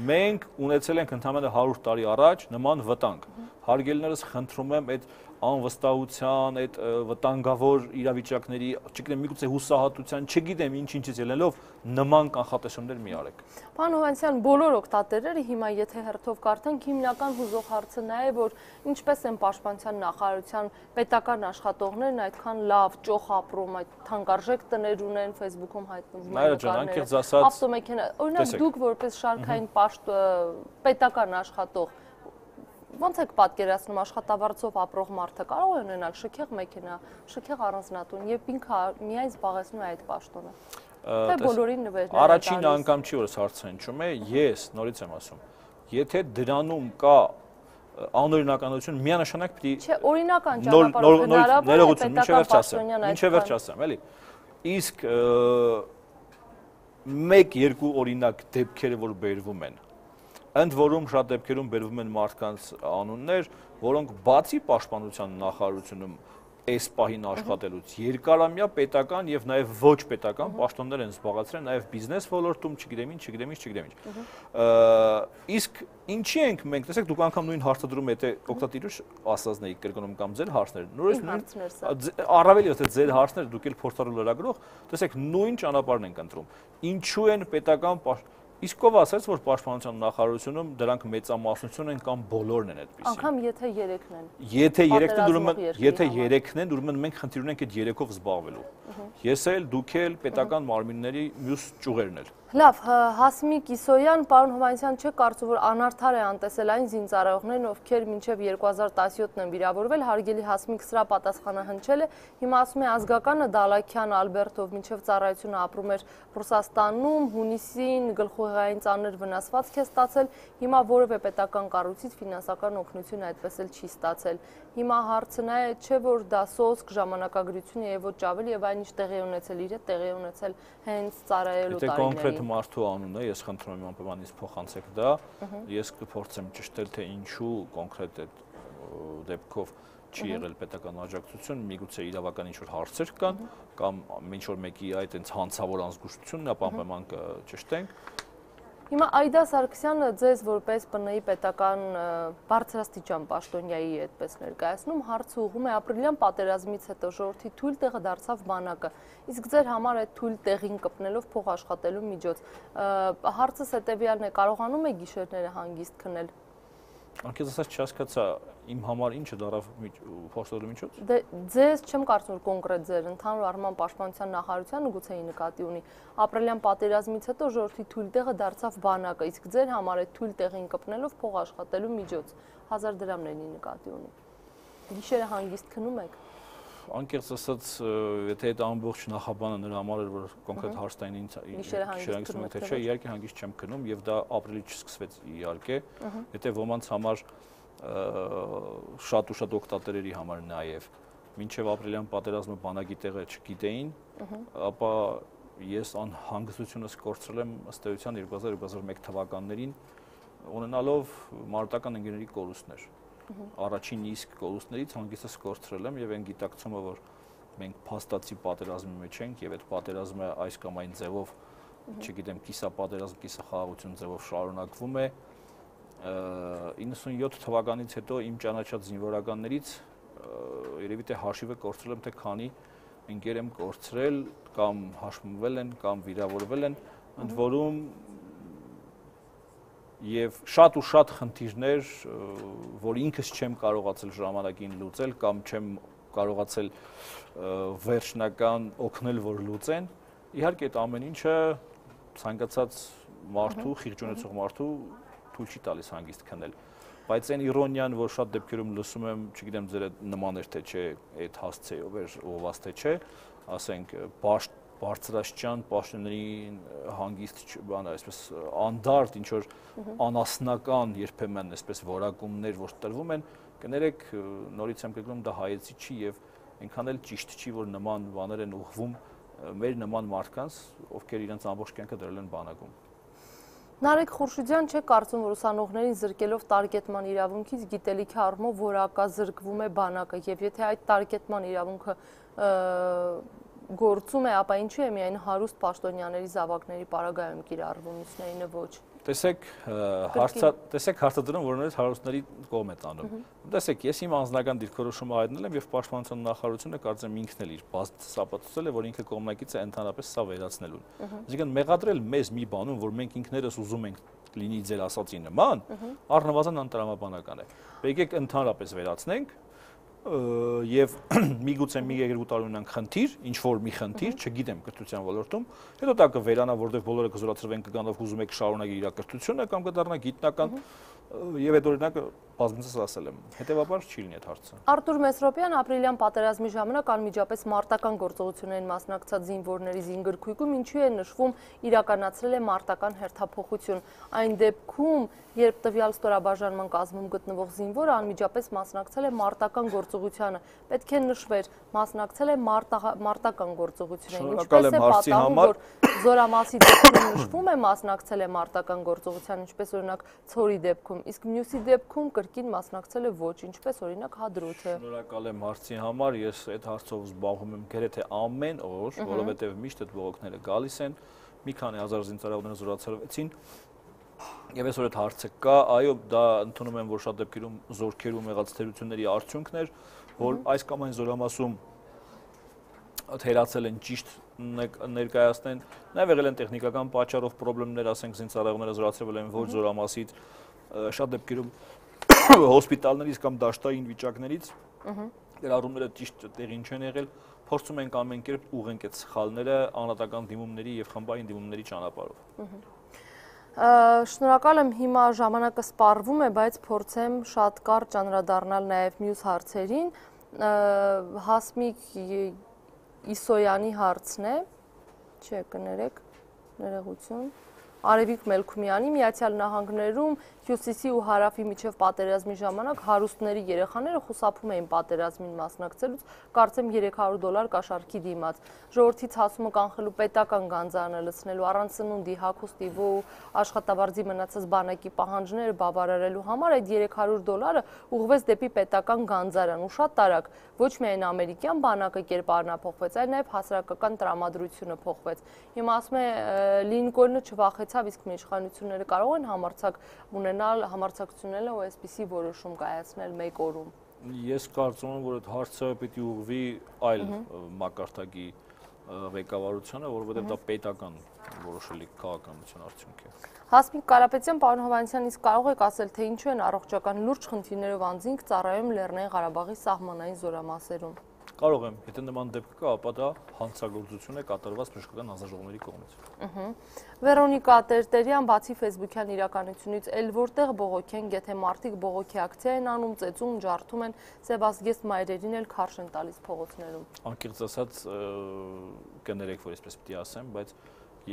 Մենք ունեցել ենք ընդամենը հարյուր տարի առաջ նման վտանգ։ Հարգելիներս, խնդրում եմ այդ անվստահության, այդ վտանգավոր իրավիճակների, չգիտեմ, միգուցե հուսահատության, չգիտեմ ինչ-ինչից ելնելով նման կանխատեսումներ մի արեք։ Պարոն Հովհաննիսյան, բոլոր օգտատերերը հիմա եթե հերթով կարդանք, հիմնական հուզող հարցը նա է, որ ինչպես են պաշտպանության նախարարության պետական աշխատողներն այդքան լավ ճոխ ապրում, այդ թանկարժեք տներ ունեն, Facebook-ում հայտնվում են նկարները, ավտոմեքենա, օրինակ դուք որպես շարքային պետական աշխատող ոնց եք պատկերացնում աշխատավարձով ապրող մարդը կարող է ունենալ շքեղ մեքենա, շքեղ առանձնատուն եւ ինքը միայն զբաղեցնում է այդ պաշտոնը։ Թե բոլորին նվերներ։ Առաջին անգամ չի որ հարցը հնչում է, ես նորից եմ ասում, եթե դրանում կա անօրինականություն, միանշանակ պիտի Չէ, օրինական ճանապարհով հնարավոր է պետական պաշտոնյան այդ։ Ինչե վերջ ասեմ, էլի։ Իսկ մեկ-երկու օրինակ դեպքերը, որ բերվում են, ընդ որում շատ դեպքերում բերվում են մարդկանց անուններ, որոնք բացի պաշտպանության նախարարությունում այս պահին աշխատելուց երկարամյա պետական եւ նաեւ ոչ պետական պաշտոններ են զբաղացրել, նաեւ բիզնես ոլորտում, չգիտեմ ինչ, չգիտեմ ինչ, չգիտեմ ինչ։ Իսկ ինչի ենք մենք, տեսեք, դուք անգամ նույն հարցը դրում եք, եթե օգտատիրուշ ասածն եք կրկնում կամ ձեր հարցները, նույնիսկ առավել եթե ձեր հարցները դուք էլ փորձառու լրագրող, տեսեք, նույն ճանապարհն ենք ընտրում։ Ինչու են պետական Իսկ ով ասաց, որ պաշտպանության նախարարությունում դրանք մեծամասնություն են կամ բոլորն են այդպիսի։ Անկամ եթե երեքն են։ Եթե երեքն են, ուրեմն եթե երեքն են, ուրեմն մենք խնդիր ունենք այդ երեքով զբաղվելու։ Ես էլ, դուք էլ, պետական մարմինների մյուս ճյուղերն էլ։ Լավ, Հասմիկ Իսոյան, պարոն Հովհաննիսյան, չէ կարծում, որ անարդար է անտեսել այն զինծառայողներն, ովքեր մինչև երկու հազար տասնյոթն են վիրավորվել, հարգելի Հասմիկ սրա պատասխանը հնչել է, հիմա ասում է ազգականը Դալաքյան Ալբերտով մինչև ծառայությունը ապրում էր Ռուսաստանում, հունիսին գլխուղեղային ծանր վնասվածք է ստացել, հիմա որևէ պետական կառույցից ֆինանսական օգնություն այդպես էլ չի ստացել։ Հիմա հարցն է, չէ որ դա սոսկ ժամանակագրություն է եւ ոչ ավելի եւ այնինչ տեղի ունեցել իր հետ տեղի ունեցել հենց ծառայելու տարիներին։ Մարդու անունը, ես խնդրում եմ անպայմանից փոխանցեք դա, ես կփորձեմ ճշտել, թե ինչու կոնկրետ այդ դեպքով չի եղել պետական աջակցություն, միգուցե իրավական ինչ-որ հարցեր կան, կամ ինչ-որ մեկի այդ այնց հանցավոր անզգուշությունն է, ապա անպայման կճշտենք։ Հիմա Այդա Սարգսյանը ձեզ որպես ՊՆ-ի պետական բարձրաստիճան պաշտոնյայի այդպես ներկայացնում, հարցը ուղղում է ապրիլյան պատերազմից հետո ժողովրդի թույլ տեղը դարձավ բանակը, իսկ ձեր համար այդ թույլ տեղին կպնելով փող աշխատելու միջոց։ Հարցս հետևյալն է, կարողանում եք գիշերները հանգիստ քնել։ Անկեղծ ասած չհասկացա իմ համար ինչը դարավ փոխստելու միջոց։ Դե ձեզ չեմ կարծում որ կոնկրետ ձեր ընդհանուր առման պաշտպանության նախարարությանը գուցե նկատի ունի ապրիլյան պատերազմից հետո ժողովրդի թույլ տեղը դարձավ բանակը, իսկ ձեր համար այդ թույլ տեղին կպնելով փող աշխատելու միջոց հազար դրամներն նկատի ունի։ Գիշերը հանգիստ քնում եք։ Անկեղծ ասած, եթե այդ ամբողջ նախաբանը նրա համար էր, որ կոնկրետ հարցային հանգիստ թե չէ, իհարկե հանգիստ չեմ քնում եւ դա ապրիլից չսկսվեց իհարկե, եթե ոմանց համար շատ ու շատ օգտատերերի համար նաեւ մինչեւ ապրիլյան պատերազմը բանակի տեղը չգիտեին, ապա ես անհանգստությունս կորցրել եմ ըստ էության երկու հազար երկու հազար մեկ թվականներին ունենալով մարտական ընկերների կորուստներ։ Առաջին իսկ կորուստներից հանգիստս կորցրել եմ եւ այն գիտակցումը, որ մենք փաստացի պատերազմի մեջ ենք եւ այդ պատերազմը այս կամ այն ձևով, չգիտեմ, կիսապատերազմ, կիսախաղաղություն ձևով շարունակվում է, իննսունյոթ թվականից հետո իմ ճանաչած զինվորականներից երևի թե հաշիվը կորցրել եմ, թե քանի ընկեր եմ կորցրել կամ հաշմվել են կամ վիրավորվել են, ընդ որում Եվ շատ ու շատ խնդիրներ, որ ինքս չեմ կարողացել ժամանակին լուծել կամ չեմ կարողացել վերջնական օգնել, որ լուծեն, իհարկե այդ ամեն ինչը ցանկացած մարդու, խիղճ ունեցող մարդու թույլ չի տալիս հանգիստ քնել։ Բայց այն իրոնիան, որ շատ դեպքերում լսում եմ, չգիտեմ ձեր նման էր թե չէ, այդ հասցեով էր ովաս թե չէ, ասենք բաշտ բարձրաստիճան պաշտոնների հանգիստ բան այսպես անդարտ ինչ որ անասնական երբեմն այսպես որակումներ որ տրվում են կներեք նորից եմ կգնում դա հայեցի չի եւ այնքան էլ ճիշտ չի որ նման բաներ են ուղղվում մեր նման մարդկանց ովքեր իրենց ամբողջ կյանքը դրել են բանակում Նարեկ Խուրշիդյան չէ կարծում որ ուսանողներին զրկելով տարգետման իրավունքից գիտելիքի առումով որակազրկվում է բանակը եւ եթե այդ տարգետման իրավունքը գործում է, ապա ինչու է միայն հարուստ պաշտոնյաների զավակների պարագայում կիրառվում, մյուսներինը ոչ։ Տեսեք, հարցը, տեսեք հարցադրում, որ նորից հարուստների կողմ է տանում։ Տեսեք, ես իմ անձնական դիրքորոշումը հայտնել եմ եւ պաշտպանության նախարարությունը կարծեմ ինքն էլ իր բազից ապացուցել է, որ ինքը կողմնակից է ընդհանրապես սա վերացնելուն։ Այսինքն մեղադրել մեզ մի բանում, որ մենք ինքներս ուզում ենք լինի ձեր ասածի նման, առնվազն անտրամաբանական է։ Եկեք ընդհանրապես վերացնենք եւ միգուցե մի երկու տարի ունենք խնդիր, ինչ որ մի խնդիր, չգիտեմ կրթության ոլորտում, հետո դա կվերանա, որտեղ բոլորը կզորացրվեն կգան ու ուզում եք շարունակել իր կրթությունը կամ կդառնա գիտնական Եվ այդ օրինակը բազմիցս ասել եմ, հետևաբար չի լինի այդ հարցը։ Արտուր Մեսրոպյան ապրիլյան պատերազմի ժամանակ անմիջապես մարտական գործողություններին մասնակցած զինվորների զինգրքույկում ինչու է նշվում իրականացրել է մարտական հերթափոխություն։ Այն դեպքում, երբ տվյալ ստորաբաժանման կազմում գտնվող զինվորը անմիջապես մասնակցել է մարտական գործողությանը, պետք է նշվեր, մասնակցել է մարտական գործողություններին։ Ինչպես է պատահում, որ Զորամասի դեպքում նշվում է մասնակցել է մարտական գործողության, ինչպես օրինակ Ցորի դեպքում, իսկ մյուսի դեպքում կրկին մասնակցել է ոչ, ինչպես օրինակ Հադրութը։ Շնորհակալ եմ հարցի համար, ես այդ հարցով զբաղվում եմ գրեթե ամեն օր, որովհետև միշտ այդ բողոքները գալիս են, մի քանի հազար զինծառայողներ զորացրվեցին, եւ այսօր այդ հարցը կա, այո, դա ընդունում եմ, որ շատ դեպքերում զորքերում եղած թերությունների արդյունքն էր, որ այս կամ այն զորամասում թերացել են ճիշտ ներկայացնեն, նաև եղել են տեխնիկական պատճառով խնդիրներ, ասենք զինծառայողները զորացրել են ոչ զորամասից, շատ դեպքերում հոսպիտալներից կամ դաշտային վիճակներից գրառումները ճիշտ տեղին չեն եղել, փորձում ենք ամեն կերպ ուղղենք այդ սխալները անհատական դիմումների եւ խմբային դիմումների ճանապարհով։ Շնորհակալ եմ, հիմա ժամանակը սպառվում է, բայց փորձեմ շատ կարճ անդրադառնալ նաև մյուս հարցերին։ Հասմիկ Իսոյանի հարցն է, չէ, կներեք, ներողություն, Արևիկ Մելքումյանի Միացյալ Նահանգներում Հյուսիսի ու Հարավի միջև պատերազմի ժամանակ հարուստների երեխաները խուսափում էին պատերազմին մասնակցելուց, կարծեմ երեք հարյուր դոլար կաշառքի դիմաց։ Ժողովրդի ցասումը կանխելու պետական գանձարանը լցնելու առանց սնունդի, հագուստի ու աշխատավարձի մնացած բանակի պահանջները բավարարելու համար այդ երեք հարյուր դոլարը ուղղվեց դեպի պետական գանձարան ու շատ տարակ ոչ միայն ամերիկյան բանակը կերպարնափոխվեց, այլ նաև հասարակական տրամադրությունը փոխվեց։ Հիմա ասում է Լինկոլնը չվախեցավ, իսկ իշխանությունները կարող են համարձակ ունենալ համարձակությունները ու այսպիսի որոշում կայացնել մեկ օրում։ Ես կարծում եմ, որ այդ հարցը պիտի ուղղվի այլ մակարդակի ղեկավարությանը, որովհետև դա պետական որոշելի քաղաքականության արդյունք է։ Հասմիկ Կարապետյան, պարոն Հովհաննիսյան, իսկ կարող եք ասել, թե ինչու են առողջական լուրջ խնդիրներով անձինք ծառայում Լեռնային Ղարաբաղի սահմանային զորամասերում։ Կարող եմ, եթե նման դեպք կա, ապա դա հանցագործություն է կատարված բժշկական հանձնաժողովների կողմից։ Վերոնիկա Տերտերյան, բացի ֆեյսբուքյան իրականությունից, էլ որտեղ բողոք են, եթե մարդիկ բողոքի ակցիա են անում, ծեծում, ջարդում են, սևազգեստ մայրերին էլ քարշ են տալիս փողոցներում։ Անկեղծ ասած, կներեք, որ այսպես պիտի ասեմ, բայց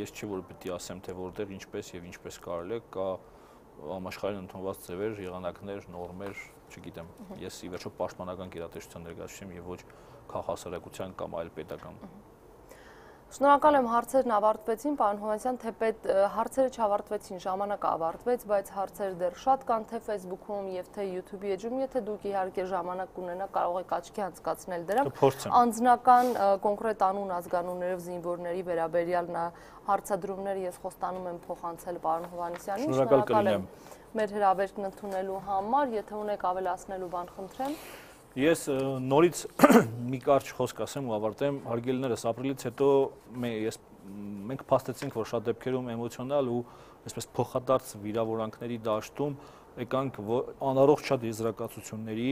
ես չի որ պիտի ասեմ, թե որտեղ, ինչպես եւ ինչպես կարելի է, կա համաշխարհային ընդունված ձևեր, եղանակներ, նորմեր, չգիտեմ, ես ի վերջո պաշտպանական գերատեսչության ներկայացուցիչ եմ եւ ոչ քաղաքասարակության կամ այլ պետական։ Շնորհակալ եմ, հարցերն ավարտվեցին, պարոն Հովհաննիսյան, թեպետ հարցերը չավարտվեցին, ժամանակը ավարտվեց, բայց հարցեր դեռ շատ կան թե Facebook-ում եւ թե YouTube-ի էջում, եթե դուք իհարկե ժամանակ ունենաք, կարող եք աչքի անցկացնել դրանք։ Անձնական կոնկրետ անուն ազգանուններով զինվորների վերաբերյալ հարցադրումները ես խոստանում եմ փոխանցել պարոն Հովհաննիսյանին։ Շնորհակալ եմ մեր հրավերն ընդունելու համար, եթե ունեք ավելացնելու բան, խնդրեմ։ Ես նորից մի կարճ խոսք ասեմ ու ավարտեմ, հարգելիներս, ապրիլից հետո ես մենք փաստեցինք, որ շատ դեպքերում էմոցիոնալ ու այսպես փոխադարձ վիրավորանքների դաշտում եկանք անառողջ շատ եզրակացությունների,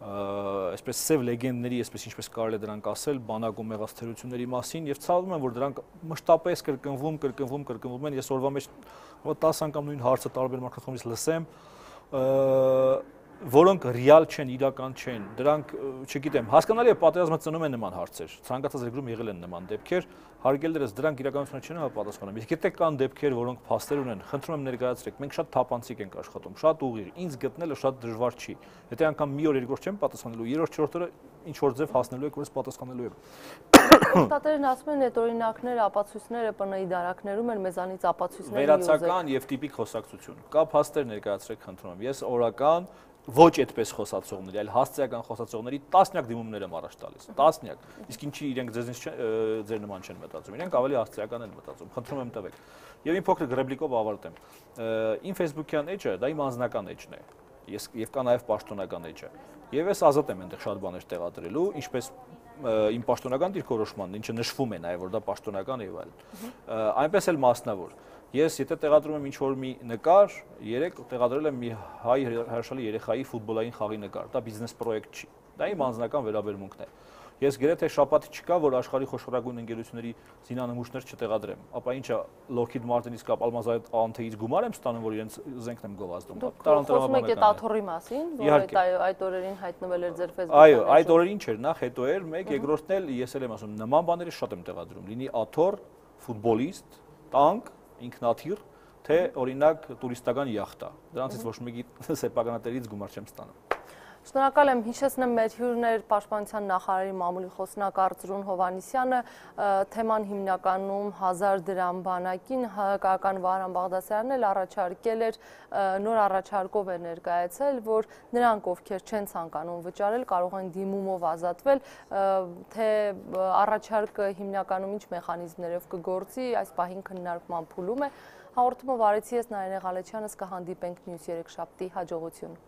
այսպես սև լեգենդների, այսպես ինչպես կարելի է դրանք ասել, բանակում եղած թերությունների մասին եւ ցավում եմ, որ դրանք մշտապես կրկնվում, կրկնվում, կրկնվում են։ Ես օրվա մեջ տասը անգամ նույն հարցը տարբեր մարդկանցից լսեմ, որոնք ռեալ չեն, իրական չեն, դրանք, չգիտեմ, հասկանալի է պատերազմը ծնում է նման հարցեր, ցանկացած երկրում եղել են նման դեպքեր, հարգելներս դրանք իրականությունը չեն համապատասխանում։ Իսկ եթե կան դեպքեր, որոնք փաստեր ունեն, խնդրում եմ ներկայացրեք, մենք շատ թափանցիկ ենք աշխատում, շատ ուղիղ, ինձ գտնելը շատ դժվար չի։ Եթե անգամ մի օր երկու օր չեմ պատասխանելու, երրորդ չորրորդ օրը ինչ որ ձև հասնելու եք, որ ես պատասխանելու եմ։ Տատերն ասում են, այդ օրինակները, ապացույցները ՊՆ-ի դարակներում են, մեզանից ապացույցներ վերացական եւ տիպիկ խոսակցություն։ Կա փաստեր ներկայացրեք, խնդրում եմ։ Ես օրական ոչ այդպես խոսացողների, այլ հասցեական խոսացողների տասնյակ դիմումներ եմ առաջ տալիս, տասնյակ։ Իսկ ինչի իրենք ձեզնից ձեր նման չեն մտածում, իրենք ավելի հասցեական են մտածում, խնդրում եմ տվեք։ Եվ իմ փոքր ռեպլիկով ավարտեմ։ Իմ Facebook-յան էջը դա իմ անձնական էջն է, ես եւ կա նաեւ պաշտոնական էջը։ Եվ ես ազատ եմ այնտեղ շատ բաներ տեղադրելու, ինչպես իմ պաշտոնական դիրքորոշմանն, ինչը նշվում է նաեւ որ դա պաշտոնական է եւ այլն։ Այնպես էլ մասնավոր։ Ես եթե տեղադրում եմ ինչ-որ մի նկար, երեք տեղադրել եմ մի հայ հրաշալի երեխայի ֆուտբոլային խաղի նկար, դա բիզնես պրոյեկտ չի, դա իմ անձնական վերաբերմունքն է։ Ես գրեթե շաբաթ չկա, որ աշխարհի խոշորագույն ընկերությունների զինանմուշներ չտեղադրեմ։ Ապա ինչա Lockheed Martin-ից կապ Almaz Ant-ից գումար եմ ստանում, որ իրենց զենքն եմ գովազդում։ Խոսում եք այդ աթոռի մասին, որ այդ օրերին հայտնվել էր ձեր Facebook-ում։ Այո, այդ օրերին չէր, նախ հետո էր, մեկ, երկրորդն էլ ես էլ եմ ասում, նման բաները շատ եմ տեղադրում։ Լինի աթոռ, ֆուտբոլիստ, տանկ, ինքնաթիռ, թե օրինակ տուրիստական յախտա։ Դրանցից ոչ մեկի սեփականատերից գումար չեմ ստանում։ Շնորհակալ եմ, հիշեցնեմ մեր հյուրներ Պաշտպանության նախարարի մամուլի խոսնակ Արծրուն Հովհաննիսյանը, թեման հիմնականում հազար դրամ բանակին, հայկական Վահրամ Բաղդասարյանն էլ առաջարկել էր, նոր առաջարկով է ներկայացել, որ նրանք, ովքեր չեն ցանկանում վճարել, կարող են դիմումով ազատվել, թե առաջարկը հիմնականում ինչ մեխանիզմներով կգործի, այս պահին քննարկման փուլում է։ Հաղորդումը վարեցի ես Նարինե Ղալեչյանը, կհանդիպենք մյուս երեքշաբթի, հաջողություն։